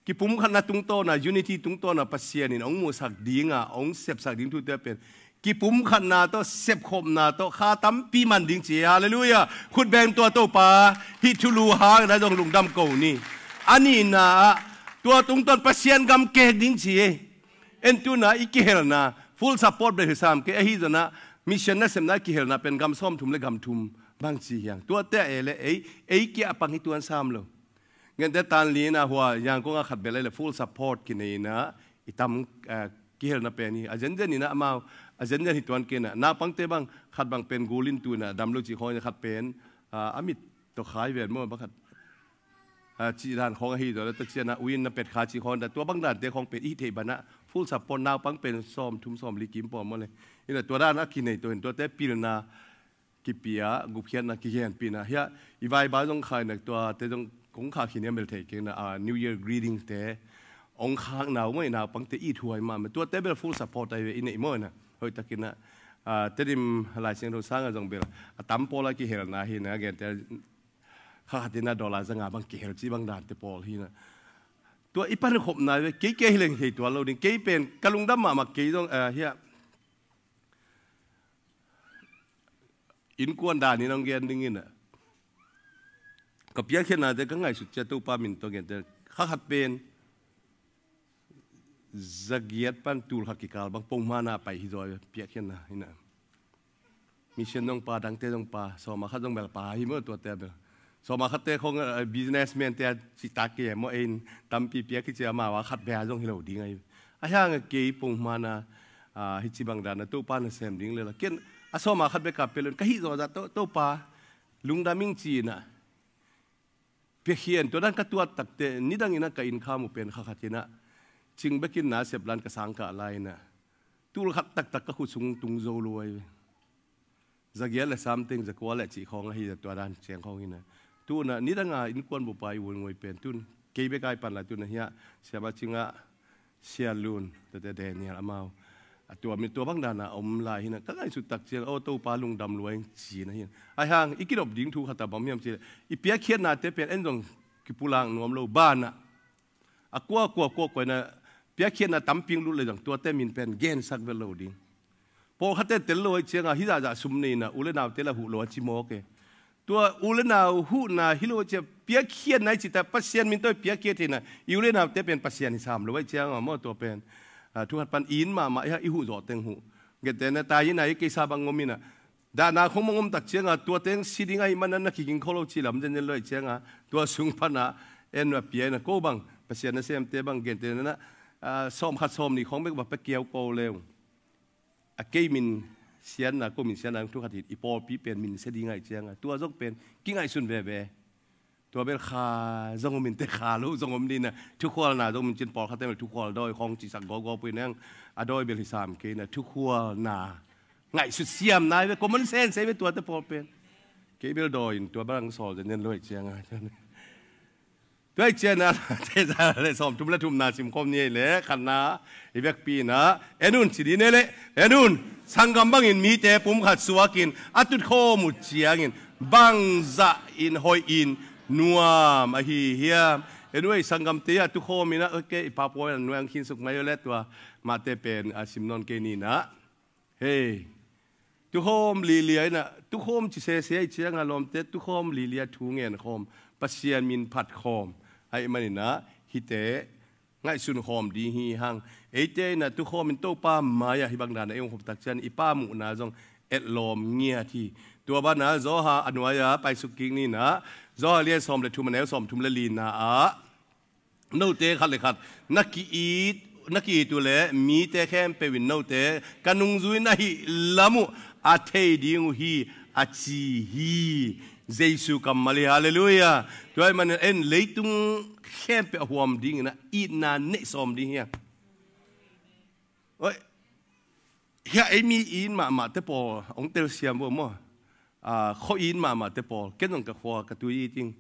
kipumkhatna tungtawna unity tungtawna Pasian in hong muhsak dinga hong sepsak ding thute pen kipumkhatna tawh sepkhopna tawh kha tampi man ding ci. Halleluiah. Khutbeng tua Topa hih thulu hangin a zong lungdam ko ni. A nihna ah tua tungtawn Pasian gam kek ding ci ei. En tuna i kihelna full support bel hi sam kei ahi zona mission nasepna i kihelna pen gam sawmthum le gam thum bang ci hiang tuate a e le ei ei kia a pang hi tuan sam lo. Ngente tan lina hua Yangon a khat bel ei le full support kineina i tam kihelna pen hi a zenzen ina amau a zenzen hi tuan kena naupangte bang khat bang pen gulin tuna dam lo ci khawng khat pen a mit tawh khai ven maw bang khat cih dan khawng ahi zaw le ta ciana uin na pet kha cih khawng da tua bang dante khawng pen i hih theih banah full support naupang pen sawm thum sawm li kim pawm maw le ina tua dan a kinei tawh in tuate pilna kipia gupkhiatna kigenpihna hiah i vaibai zong khainak tuate zong kong khah khin hiam bel thei kengna a New Year greetings te ong khakna uh maw i naupangte i thuai mahmah tuate bel full support ai ve i neih maw ina hoihtakinah Ah, Tedim Lai Siangtho sang a zong bel a tam pawl a kihelna hi na, a gente kha khat in a dollar za nga bang kihel ci bang dante pawl hi na. Tua i pan khopna ve, kei kei hi leng thei tuan lo ding, kei pen ka lungdam mahmah kei zong, ah, hiah innkuan dan in hong gen ding in a, ka piakkhiatnate ka ngaihsut ciang Topa min tawh gente kha khat pen zagiat pan tul khat kikal bang pongmana pai hi zaw, piakkhiatna hi na. Mission zong pa, dangte zong pa, sawma khat zong bel pa hi maw, tuate bel. Sawma khatte khong, eh, businessman te a citak kei maw, ei in tampi piak hi cia, amau a khat bek a zong hi lo ding ahi. A hiang a kei pongmana, ah, hi ci bang dan a Topa na sem ding le la. Ken a sawma khat bek a pelon ka hih zawzah To, Topa lungdam ing ci na. Piakkhian tua dan ka tuat takte, nidang in a ka inn kham uh pen kha khat in a, cing bekin na sep lan ka sang kah lai in a, tul khat taktak ka khut sung tung zo lo ai ve. Zagiat le samteng, zakua le cih khawng ahi, tua dan ciang khawng hi na. Tu na nidang a innkuan bupa i uai nguai pen tun kei bek a i pan lai, tu na hiah siama cingah Sia Lun, tate Daniel amau. A tua mi tua bang dan a om lai hi na, ka ngaihsut tak ciang, aw, Topa lungdam lua ing ci na hi na. A hiang i kidop ding thu khat a bang hiam ci le, i piakkhiatnate pen en zong kipulak nuam lo, ban a, a kua kua kua kua na piakkhiatna tampi lut le zong tuate min pen gensak vet lo ding. Pawlkhatte tel lo ai ciang a, hi zahzah sum nei na, u le naute la huh lo a ci mawk e. Tua u le nau huhna hi lo cia, piakkhiatna i cita Pasian min tawh i piakkhiat hi na, i u le naute pen Pasian hi sam lo ai ciang a maw, tua pen, ah, thu khat pan in mahmah i huh zawh teng huh. Gentehna tai in a, i keisa bang ngom in a, dahna khong mah ngom tak ciang a, tua teng si ding ahi man a na kiging kho lo ci lam zenzen lo ai ciang a, tua sung pan a en a pia in a, ko bang Pasian nasemte bang gentehna, ah, sawm khat sawm nih khong bek va pia kiau ko leu. A kei min sianna, ko min sianna thu khat hi, i pawlpi pen min sia ding ai ciang a, tua zong pen kingaihsun veve. Tua bel kha zong om in te, kha lo zong om ding na, thukhualna zong min cin, pawlkhatte bel thukhual dawi khawng cisak gawgaw pui neng, a dawi bel hi sam kei na, thukhualna ngaihsut siam nai ve, common sense ei ve tuate pawl pen. Kei bel dawi in tua bel ang sawl zen zen lo ai ciang a. Tua i cian a, te za le sawm thum le thumna sim khawm ni ei le, khatna, i vekpi in a, en un ci ding ei le, en un, sanggam bangin mite pum khat suakin, a tut khawm uh ciangin, bangzah in hoih in nuam ahi hiam? En un ei sanggamte a tu khawm in a, ok, i pa puai a nuai ang khin suk mai uh le tua, mahte pen a sim nawn kei ni na. Hei, tukhawm lilia in a, tukhawm ci sese i ciang a lawmte, tukhawm lilia thu ngen khawm, Pasian min phat khawm ahih manin a, hihte ngaihsun khawm ding hi hang. Eite in a tukhawm in Topa mai-ah hih bang dan a ei hong khop tak ciang i Pa muhna zong etlawm ngiat hi. Tua ban a Johan a nuai-ah paisuk kik ni na, Johan lian sawm le thum a neu sawm thum le lina ah, note khat le khat na ki-it, na ki-it uh leh mite khempeuh in note ka nungzui na hih lam uh a thei ding uh hi, a ci hi. Jesu kammal hi, halleluiah. Tua ahih manin en leitung khempeuh a huam dingin a itna neih sawm ding hi hang. Oi, hiah ei mi it mahmahte pawl hong telsiam uh maw? Ah, khua it mahmahte pawl, ken zong ka khua ka tui it ing,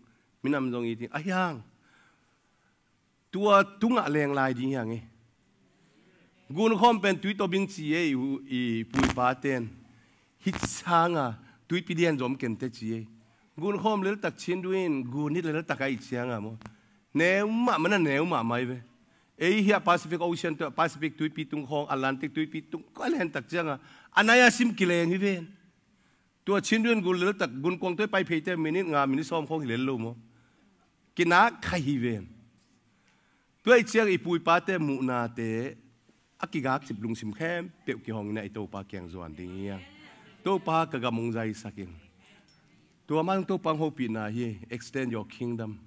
minam zong it ing, a hiang. Tua tungah leng lai ding hiang e. Gunkhawm pen tui tawbin ci e, i, i pu i paten. Hih sanga tuipi dian zom kente ci e. Gunkhawm leltak chin duin, gun hih leltak a i cianga maw? Neu mahmah na neu mahmah i ve. Ei hiah Pacific Ocean tua, Pacific tuipi tung khawng, Atlantic tuipi tung khawng a lentak cianga, a nai a sim kileng hi ven. Tua chin duin gun leltak, gunkuang tua i pai pheite minit nga, minit sawm khawng hi lel lo maw? Kinak khai hi ven. Tua i ciang i pu i pate muhnate a kigak cip lungsim khempeuh kihong in a i Topa kiang zuan ding hi hang. Topa ka gam hong zaisak in. Tua mah Topa hong hopihna hi, extend your kingdom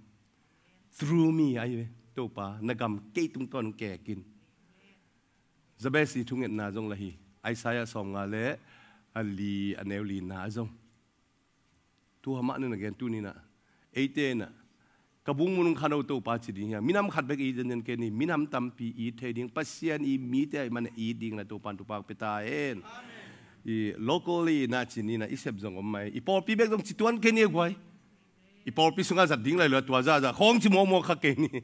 through me, ahi ve. Topa na gam kei tungtawn hong kek in. Jabez i thungetna zong la hi. Isaiah sawmnga le a li a neu lina ah zong. Tua mah na gen tuni in a, eite in a, ka bung mun hong khan o Topa ci ding hi hang. Minam khat bek it zenzen kei ni, minam tampi it thei ding, Pasian i mite ahih man a it ding na Topa in thupha pia ta hen. I locally na ci ni in a, i sep zong om mai. I pawlpi bek zong ci tuan kei ni a guai. I pawlpi sungah zat ding lai lo a, tua zahzah khawng ci mawkmawk kha kei ni.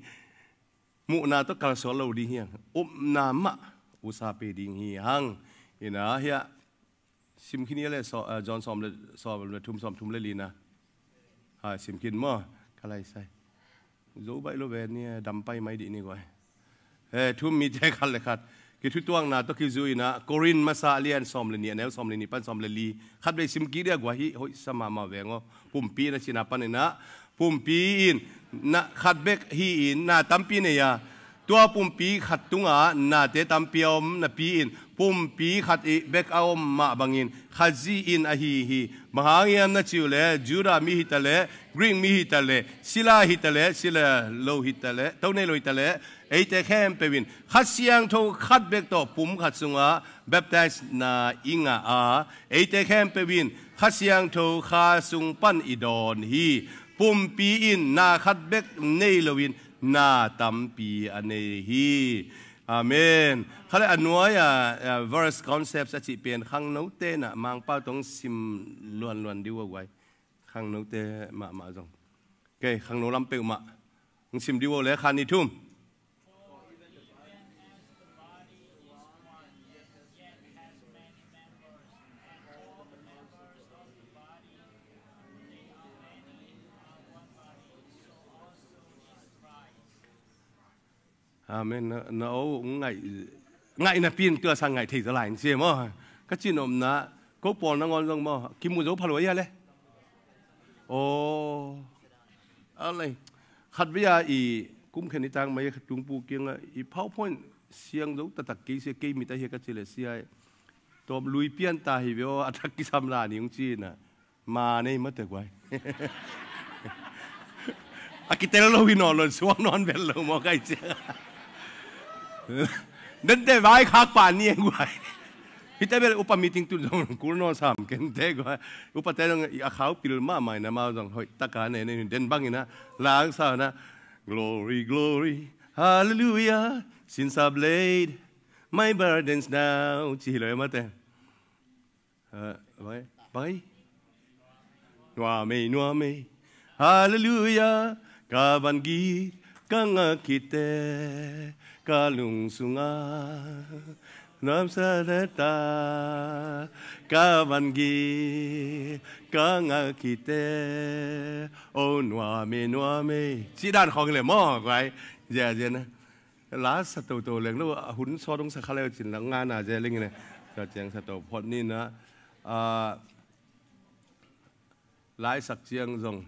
Muhna tawh kalsuan lo ding hi hang. Upna mah usa pe ding hi hang. Hi na hiah Sim khin i le so, ah, John sawm le, sawm le thum, sawm thum le li na. Ha, sim khin maw? Ka lai sai. Zo baih lo ve ni, dam pai mai dih ni guai. Eh, thu-um mite khat le khat kithutuakna tawh kizui in ah, Korin masa a lian sawm le nih, a neu sawm le nih pan sawm le li. Khat vei sim kik dia guai hi, hoih sa mahmah veng aw. Pumpi in a cihna panin ah, pumpi in na khat bek hi-in na tampi nei a, tua pumpi khat tungah nate tampi a om napi-in, pumpi khat ih bek a om mah bangin Khazih in ahi hi. Bang hang hiam na cih uh leh, Judah mi hi ta leh, Greek mi hi ta leh, sila hi ta leh, sila lo hi ta leh, to nei lo hi ta leh, eite khempeuh in Kha Siangtho khat bek tawh pum khat sungah baptisena i ngah a, eite khempeuh in Kha Siangtho Kha sung pan i dawn hi. Pumpi in na khat bek nei loin na tampi a nei hi. Amen. Khale a nuai-a, a, verse concepts a cih pen khangnote in ah Mangpau tawh sim luanluan dih uh a guai. Khangnote mahmah zong. Ok, khangno lam peuhmah hong sim dih uh le khan ni thum. Amen. Na, na aw ngaih, ngaih napi in tua sang ngaih thei zaw lai in sia maw? Ka cih nopna, ko pawl nangawn zong maw, kimu zo pha lua hia le? Aw. A lei. Khat vei a i kum khen i tang mai a khat tung pu kiangah i PowerPoint siang zo taktak kei sia, kei mit a hia ka cih leh sia. Tawm lui pian ta hi ve aw, a thak kisam la ni hong ci in ah. Ma nei mate guai. A kitel lo hi nawn lo, suang nawn vel lo maw kai cia. Dente vai khak pa ni guai. Hite bel upa meeting tun zong kul nawn sam kente guai. Upa te zong a khau pil mahmah in ah, amau zong hoih taka ne ne den bang in ah, lang sa na, "Glory, glory, hallelujah, sins are laid, my burdens now," ci hi lo mate. Bai, bai. Nuam ei, nuam ei. Halleluia. Ka van gik ka ngak khit teh, ka lung sungah nuamsa deta. Ka van gik ka ngak khit teh, oh nuam ei, nuam ei. Cih dan khawng hi leh maw guai. Zia, zia na. La sa toto leng lo, a hun sawt hong sa kha leu cin la ngana ze leng in. Sa ciang sa to phot ni na. A, laisak ciang zong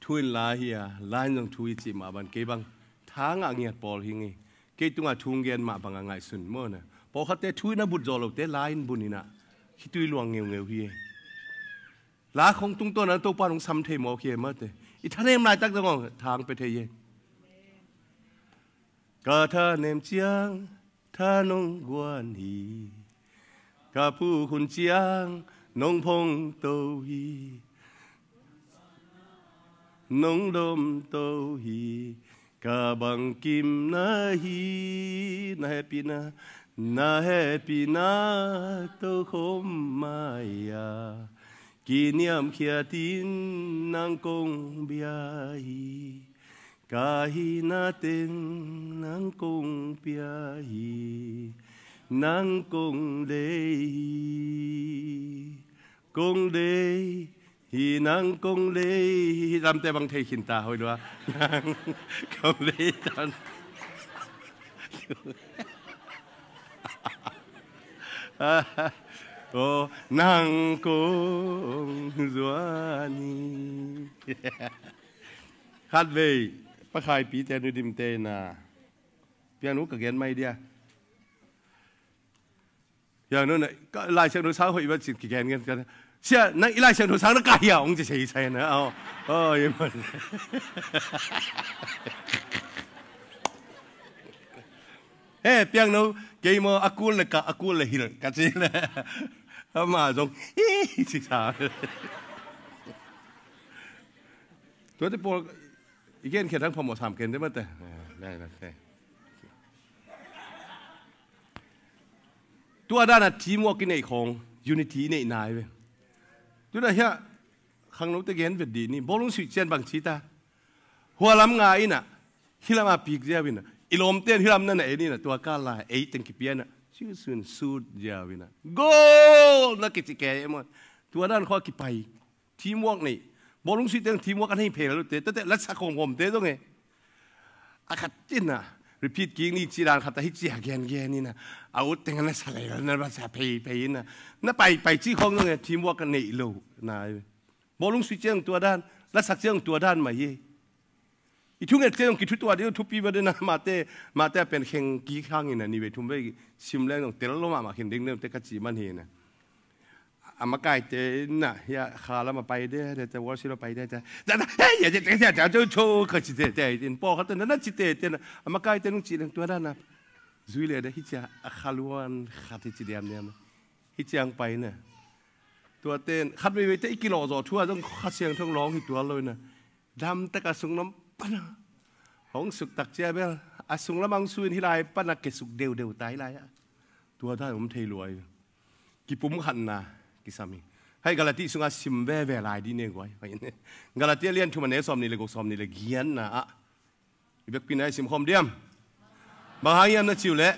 thu in la hi a, la in zong thu hi cih mah bang kei bang. Tha ngah ngiat pawl hi ngei. Kei tungah thu gen mah bang a ngaihsun maw na. Pawlkhatte thu in a but zawh lote la in bun in ah, khitui luang ngeungeu hi. La khong tungtawn a Topa nong sam thei mawk hi e mate. I thanem laitak zong thang pe thei hi. Ka thanem ciang tha nong guan hi. Ka puk hun ciang nong phongto hi. Nong domto hi. Ka bangkimna hi, na hehpihna, na hehpihna tokhom mai-a kiniamkhiatin nang kong bia hi. Ka hihna teng nang kong pia hi. Nang kong deih hi. Kong deih hi, nang kong deih hi. Lamte bang thei khin ta hoi lua. Nang kong deih tan. Oh, nang kong zuan hi. Khat vei, Pa Khai Pi te, Nu Dim te na. Piang nu ka gen mai dia. Piang nu na, ka, Lai Siangtho sang hoih vat cin kigen gen ka. Sia, nang i Lai Siangtho sang na ka hia ong ci sei sai na. Oh, oh, ye man. He, piang nu, kei maw, a kul le ka, a kul le hil, ka ci le. Ama zong, hi, ci sa. Tua te pawl, i gen khia thang phamawh sam ken te mate. Eh, lai, lai, lai. Tua dan a teamwork i neih khawng, unity i neih nai ve. Tuna hiah khangnote gen vet dih ni, bawlung suih cian bang ci ta. Hua lam nga in ah, hi lam a pik ziau in ah, i lawmte in hi lam na na en in ah, tua kal lai ei teng kipia in ah, Ciu sun sut ziau in a, "Goal!" na kici kei e maw. Tua dan khawng a kipai. Teamwork nei. Bawlung suih teng teamwork a nei phel lote. Tate latsak khawmkhawmte zong e. A khat in a, repeat kik ni ci dan khat a hi cia gengen in a, a ut teng a na sa lel, na ba sa pheiphei in a, na paipai ci khawng zong e, teamwork a neih lo na. Bawlung suih ciang tua dan, latsak ciang tua dan mah hi. I thunget ciang kithutuah ding, thupi va ding na, mahte, mahte a pen kheng kik hangin a ni vei thum vei sim leng zong tel lo mahmah khin ding ding te ka ci man hi na. A makaite na, hia, kha lam a pai de, de, de, worship a pai de, de, de, de, hei, ya, de, de, de, de, de, cho, ka ci de, de, in pawlkhat na, na ci de, de, na, a makaite nung ci leng tua dan na. Zui le de, hi cia, a kha luan khat hi ci diamdiam. Hi ciang pai na. Tua ten, khat veivei te i kilawh zawh thu a zong Kha Siangtho lawng hi tuan lo na. Damtak a sunglam pan a hong suk tak cia bel, a sunglam a hong su in hi lai pan a ke suk deudeu ta hi lai a. Tua dan om thei luai. Kipumkhatna kisam hi. Hei Galati sungah sim veve lai dih ne guai. Galati a lian thum a neu sawm nih le guk, sawm nih le giatna ah. I vekpi-in a i simkhawm diam. Bang hang hiam na cih uh leh,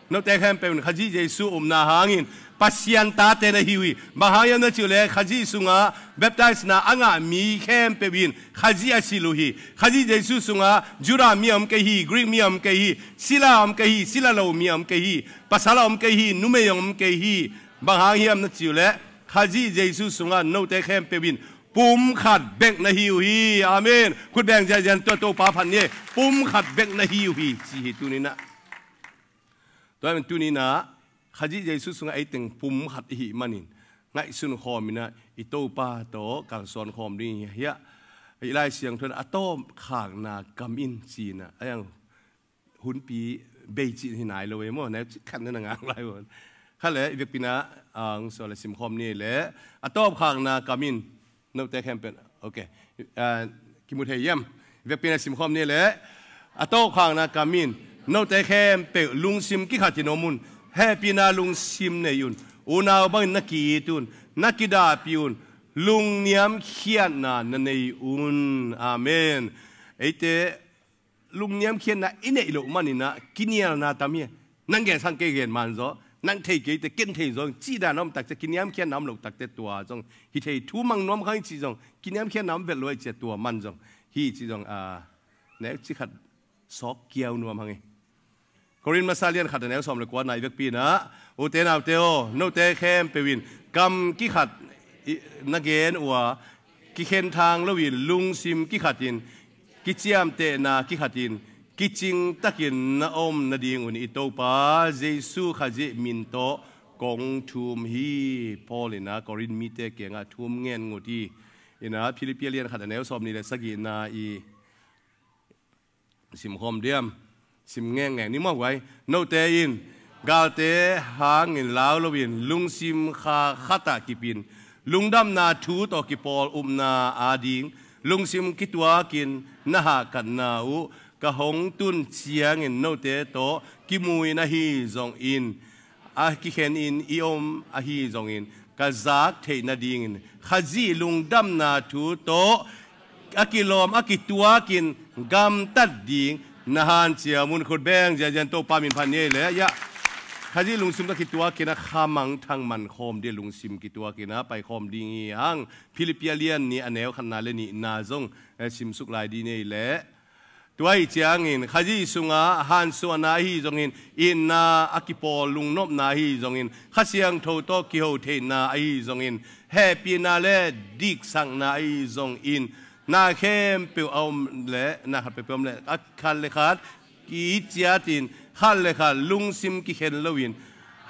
note khempeuh in Khazih Jesuh upna hangin Pasian tate na hi uh hi. Bang hang hiam na cih uh leh, Khazih sungah baptisena a ngah mi khempeuh in Khazih a silh uh hi. Khazih Jesuh sungah Judah mi a om kei hi, Greek mi a om kei hi, sila a om kei hi, sila lo mi a om kei hi, pasal a om kei hi, numei a om kei hi. Bang hang hiam na cih uh leh, Khazih Jesuh sungah note khempeuh in pumkhat bek na hi uh hi. Amen. Khut beng ziahziah in tua Topa phat ni e. Pumkhat bek na hi uh hi, ci hi tuni-in ah. Tua ahih manin tuni-in ah Khazih Jesuh sungah ei teng pumkhat i hih manin ngaihsun khawm in ah i Topa tawh kalsuan khawm ding hi. Hiah i Lai Siangtho in a tawpkhakna kam in ci-in ah, a hiang hunpi bei cih hi nai lo e maw, neu cik khat na na ngang lai maw. Kha le, i vekpi-in ah, ang so le simkhawm ni le, a tawpkhakna kam in, note khempeuh, ok. Ah, kimu thei hiam? I vekpi-in ah simkhawm ni le, a tawpkhakna kam in, note khempeuh lungsim kikhatin om un, hehpihna lungsim nei un, unau bangin na ki-it un, na kidahpih un, lungniamkhiatna na nei un. Amen. Eite lungniamkhiatna i neih loh manin ah kinialna tam hi. Nang gen sang kei gen man zaw, nang thei kei te ken thei zaw, cih dan a om tak ciang kiniamkhiatna om loh tak ciang tua zong hi thei. Thu mang nuam khang i cih zong kiniamkhiatna om vet lo i cih ciang tua man zong hi cih zong, ah, neu cik khat sawk kiau nuam hang hi. Korin masa lian khat a neu sawm le kuana i vekpi-in ah, ute naute aw, note khempeuh in kam kikhat i, na gen uh a, kikhenthang loin lungsim kikhatin, kiciamtehna kikhatin, kicingtakin na om nadingun i Topa Jesuh Khazih min tawh kong thum hi. Paul in ah Korin mite kiangah thum ngen ngut hi. In ah Philippi lian khat a neu sawm nih le sagihna i simkhawm diam? Sim ngengngeng ni maw guai. Note in galte hangin lau loin lungsim kha khatah kipin, lungdamna thu tawh kipawl upna ading lungsim kituakin na hahkatna uh ka hong tun ciangin note tawh kimu in ahi zongin, a kikhenin i om ahi zongin ka zak theih nadingin Khazih lungdamna thu tawh a kilawm a kituakin gamtat ding na hanciam un. Khut beng ziahziah in Topa min phat ni ei le. Khazih lungsim tawh kituakin a khamangthang mankhawm ding lungsim kituakin a paikhawm ding hi hang. Philippi lian nih a neu khatna le nihna zong, eh, simsuk lai ding ni ei le. Tua ahih ciangin Khazih sungah hansuahna ahi zongin, itna a kipawl lungnopna ahi zongin, Kha Siangtho tawh kiho theihna ahi zongin, hehpihna le diksakna ahi zongin, na khempeuh a om le, na khat peuhpeuh a om le, a khat le khat kiciatin, khat le khat lungsim kikhen loin,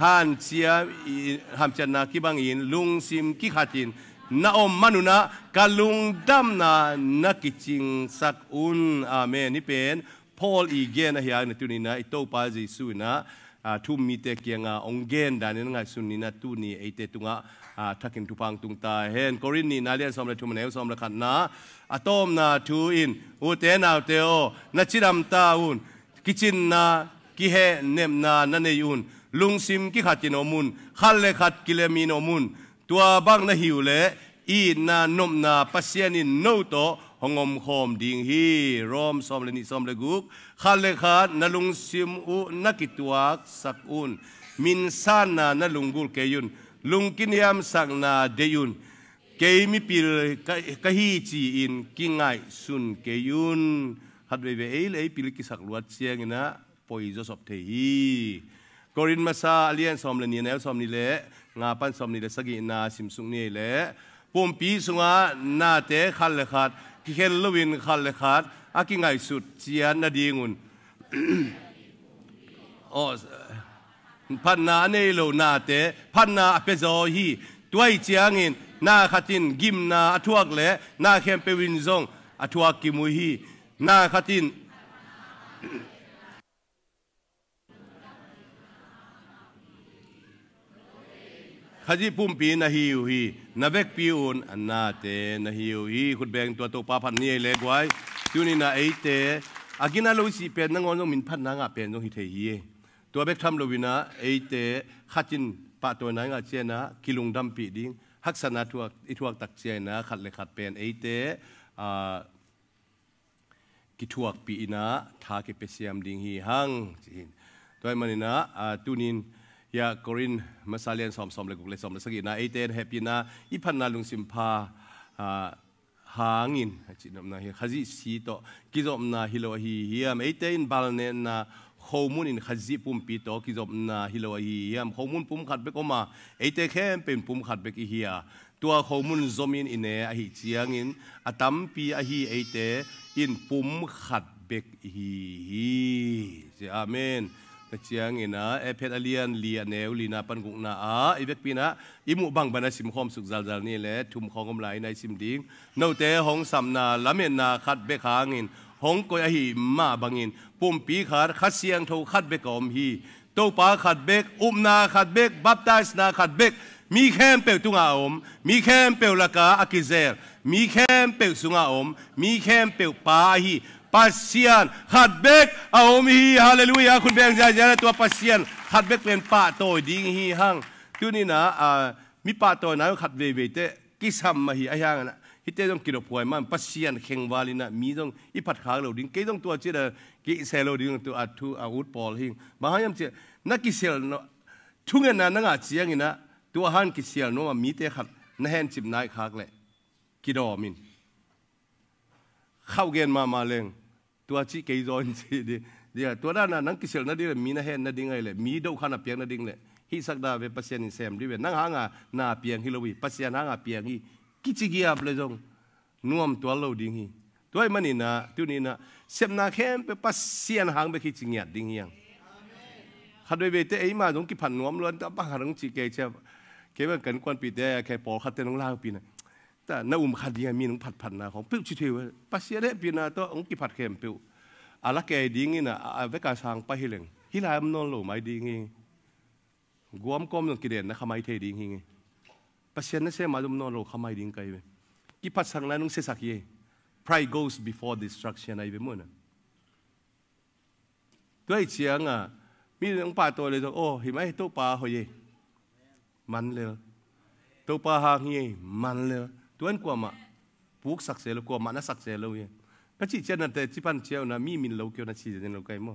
hanciam i, hanciamna kibangin lungsim kikhatin na om man un ah ka lungdamna na kicingsak un. Amen. Hih pen Paul i gen ahi a, na tuni-in ah i Topa Jesuh in ah, ah, thu-um mite kiangah hong gen danin ngaihsun ni-in ah tuni eite tungah, ah, thakin thupha hong tung ta hen. Korin nihna lian sawm le thum a neu sawm le khatna, a tawpna thu in, ute naute aw, na cidam ta un. Kicinna, kihehnepna na nei un. Lungsim kikhatin om un. Khat le khat kilemin om un. Tua bang na hi uh leh itna nopna Pasian in no tawh hong omkhawm ding hi. Rom sawm le nih, sawm le guk. Khat le khat na lungsim uh na kituaksak un. Minsanna na lunggulh kei un. Lungkiniamsakna deih un. Kei mipil ka, ka hi ci-in kingaihsun kei un. Khat veivei ei le ei pil kisak luat ciangin ah poi zawsop thei hi. Korin masa a lian sawm le nih, a neu sawm nih le nga pan sawm nih le sagihna simsuk ni ei leh, pumpi sungah nate khat le khat kikhel loin khat le khat a kingaihsut ciat nadingun, aw, phatna a nei lo nate phatna a pia zaw hi. Tua ahih ciangin na khat in gimna a thuak leh na khempeuh in zong a thuak kim uh hi. Na khat in Khazih pumpi na hi uh hi. Na vekpi un a nate na hi uh hi. Khutbeng tua Topa phat ni ei le guai. Tuninah eite a gina lo i sih pen nangawn zong min phatna ngah pen zong hi thei hi. Tua bek tham loinah eite khat in pahtawina i ngah cianah kilungdampih ding, haksatna thuak, i thuak tak cianah khat le khat pen eite, ah, kithuakpih inah tha kipia siam ding hi hang, ci hi. Tua ahih maninah, ah, tunin hiah Korin masa lian sawm, sawm le guk le sawm le sagihna eite hehpihna i phatna lungsim pha, ah, hangin a cihnopna hi. Khazih si tawh kizopna hi lo ahi hiam? Eite in balnenna khomun in Khazih pumpi tawh kizopna hi lo ahi hiam? Khomun pum khat bek om a, eite khempeuh in pum khat bek i hi a, tua khomun zomin i ne ahih ciangin a tampi ahi eite in pum khat bek i hi hi. Ci, amen. Tua ciangin ah Efesa a lian li a neu lina pan gukna ah i vekpi inah i muh bangbang a simkhawm suk zalzal ni le thum khawng om lai inah i sim ding. Note hong samna lametna khat bek hangin hong koih ahi mah bangin pumpi khat, Kha Siangtho khat bek a om hi. Topa khat bek, upna khat bek, baptisena khat bek, mi khempeuh tungah a om, mi khempeuh lakah a kizel, mi khempeuh sungah a om, mi khempeuh Pa ahi Pasian khat bek a om hi. Halleluiah. Khutbeng ziahziah le tua Pasian khat bek pen pahtawi ding hi hang. Tuninah, ah, mi pahtawina khat veivei teh kisam ahi, ahi hangin ah hihte zong kidophuai man, Pasian khengval inah mi zong i phatkhak lo ding. Kei zong tua ciatah kisel lo ding, tua a thu a ut pawl hi. Bang hang hiam ciah na kisel no, thungetna na ngah cianginah tua hang kisel nuam a mite khat na hencip nai khak leh kidawm in. Khauh gen mahmah leng tua cih kei zaw in ci ding. Dia, tua dana nang kiselh nading le mi na hen nading ahi le mi dohkhan a piak nading le hihsak da ve, Pasian in sem dih ve. Nang hanga na piang hi lo hi, Pasian hanga piang hi. Kici giap le zong nuam tual lo ding hi. Tua ahih maninah tuninah sepna khempeuh Pasian hang bek hi ci ngiat ding hi hang. Khat veiveite eima zong kiphat nuam luan ta bang harang ci kei cia. Kei bang kan kuanpihte a kei pawlkhatte nong laupina ta na um khat ding a mi nong phatphatna khawng peuh ci thei uh. Pasian hehpihna tawh hong kiphat khempeuh a la kei dingin a, a veka sang pai hi leng hih lai om nawn lo mai ding hi. Guam kawm zong kidenna kha mai thei ding hi. Pasian nasem a zom nawn lo kha mai ding kai ve. Kiphatsakna nong siasak hi. Pride goes before destruction ahi ve muhna. Tua ahih cianga mi nong pahtawi le zong, aw, hi mai, Topa hoih e. Man lel. Topa hang hi e, man lel. Tuan kuamah puksak se lo, kuamah na sak se lo hi. Ka cih cianate cipan ciauna mi min lo kio na ci zen lo kai maw?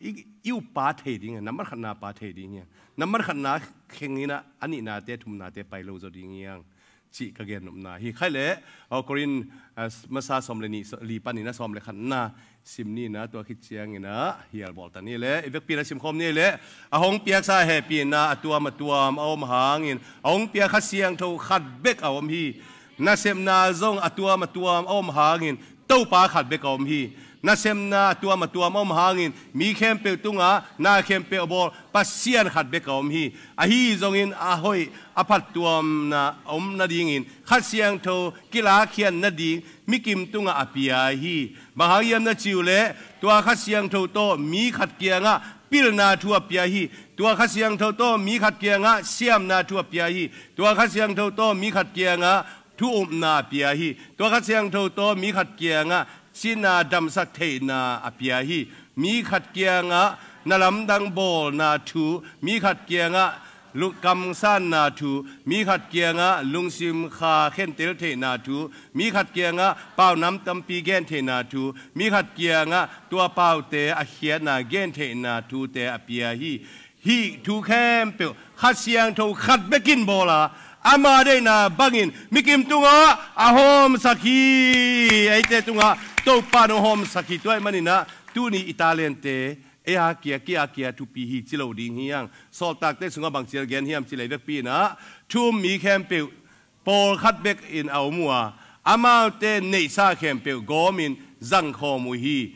I, i upa thei ding, nambat khatna pa thei ding hi. Nambat khatna khengina a nihnate, thumnate pai lo zaw ding hi hang. Cih ka gennopna hi. Khai le, aw, Korin, ah, masa sawm le nih, so-, li panin a sawm le khatna sim nina tua khit ciangin a hial bawlta ni le, i vekpi na simkhawm ni le, a hong piaksa hehpihna a tuam a tuam a om hangin, a hong piak Kha Siangtho khat bek a om hi. Nasepna zong a tuam a tuam a om hangin, Topa khat bek a om hi. Nasemna a tuam a tuam a om hangin mi khempeuh tungah na khempeuh a bawl Pasian khat bek a om hi. Ahi zongin a hoih a phattuamna a om nadingin Kha Siangtho kilakkhiat nading mikim tungah a pia hi. Bang hang hiam na cih uh leh tua Kha Siangtho tawh mi khat kiangah pilna thu a pia hi. Tua Kha Siangtho tawh mi khat kiangah siamna thu a pia hi. Tua Kha Siangtho tawh mi khat kiangah thu upna a pia hi. Tua Kha Siangtho tawh mi khat kiangah sihna damsak theihna a pia hi. Mi khat kiangah na lamdang bawlna thu, mi khat kiangah kamsanna thu, mi khat kiangah lungsim kha khentel theihna thu, mi khat kiangah paunam tampi gen theihna thu, mi khat kiangah tua paute a khiatna gen theihna thute a pia hi. Hih thu khempeuh Kha Siangtho khat bekin bawl a, ama deihna bangin mikim tungah a hawmsak hi. Eite tungah Topa nong hawmsak hi. Tua ahih maninah tuni i talente ei a kia, kia, kia thupi hi ci lo ding hi hang. Sawltakte sungah bang ci a gen hiam ci lei vekpi inah thu um mi khempeuh pawlkhat bekin a om uh a, amaute neihsa khempeuh gawmin zangkhawm uh hi.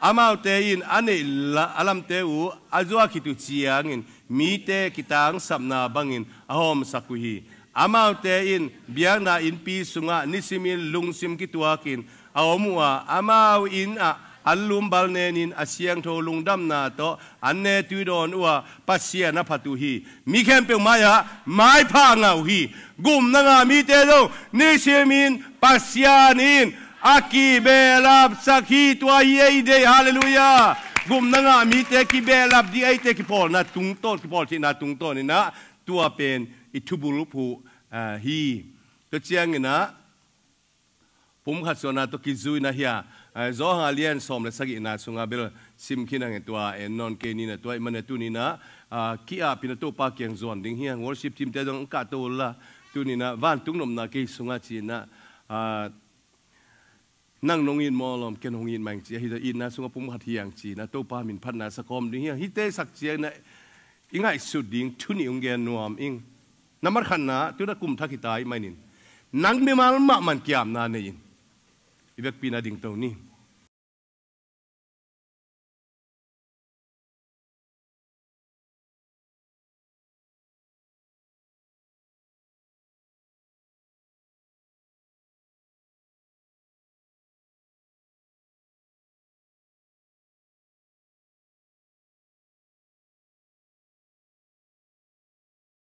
Amaute in a neih la-, a lamte uh a zuak khit uh ciangin mite kitangsapna bangin a hawmsak uh hi. Amaute in biakna innpi sungah nisimin lungsim kituakin a om uh a, amau in ah an lumbal nenin a siangtho lungdamna tawh an ne tuidawn uh a, Pasian a phat uh hi. Mi khempeuh mai-ah maipha ngah uh hi. Gupna ngah mite zong nisimin Pasian in a kibehlapsak hi. Tua hi ei deih. Halleluiah. Gupna ngah mite kibehlap ding, eite kipawlna tungtawn, kipawl theihna tungtawn inah tua pen i thubulphuh, ah, hi. Tua cianginah pumkhat suahna tawh kizui na hi a, ah, Johan a lian sawm le sagihna sungah bel sim khin hangin tua en nawn kei ninah, tua ahih manin tuninah, ah, ki-ap inah Topa kiang zuan ding hi hang. Worship team te zong kahto unla, tuninah vantung nopna kei sungah ci inah, ah, nang nong it maw lawm, ken hong it mah ing ci, ahi zong itna sungah pumkhat hi hang ci inah Topa min phatna sakawm ding hi hang. Hihte sak cianginah i ngaihsut ding thu nih hong gen nuam ing. Nambat khatna, tuna kum thak hi ta ahih manin nang mimal mahmah in kiamna nei in. I vekpi inah dingto ni.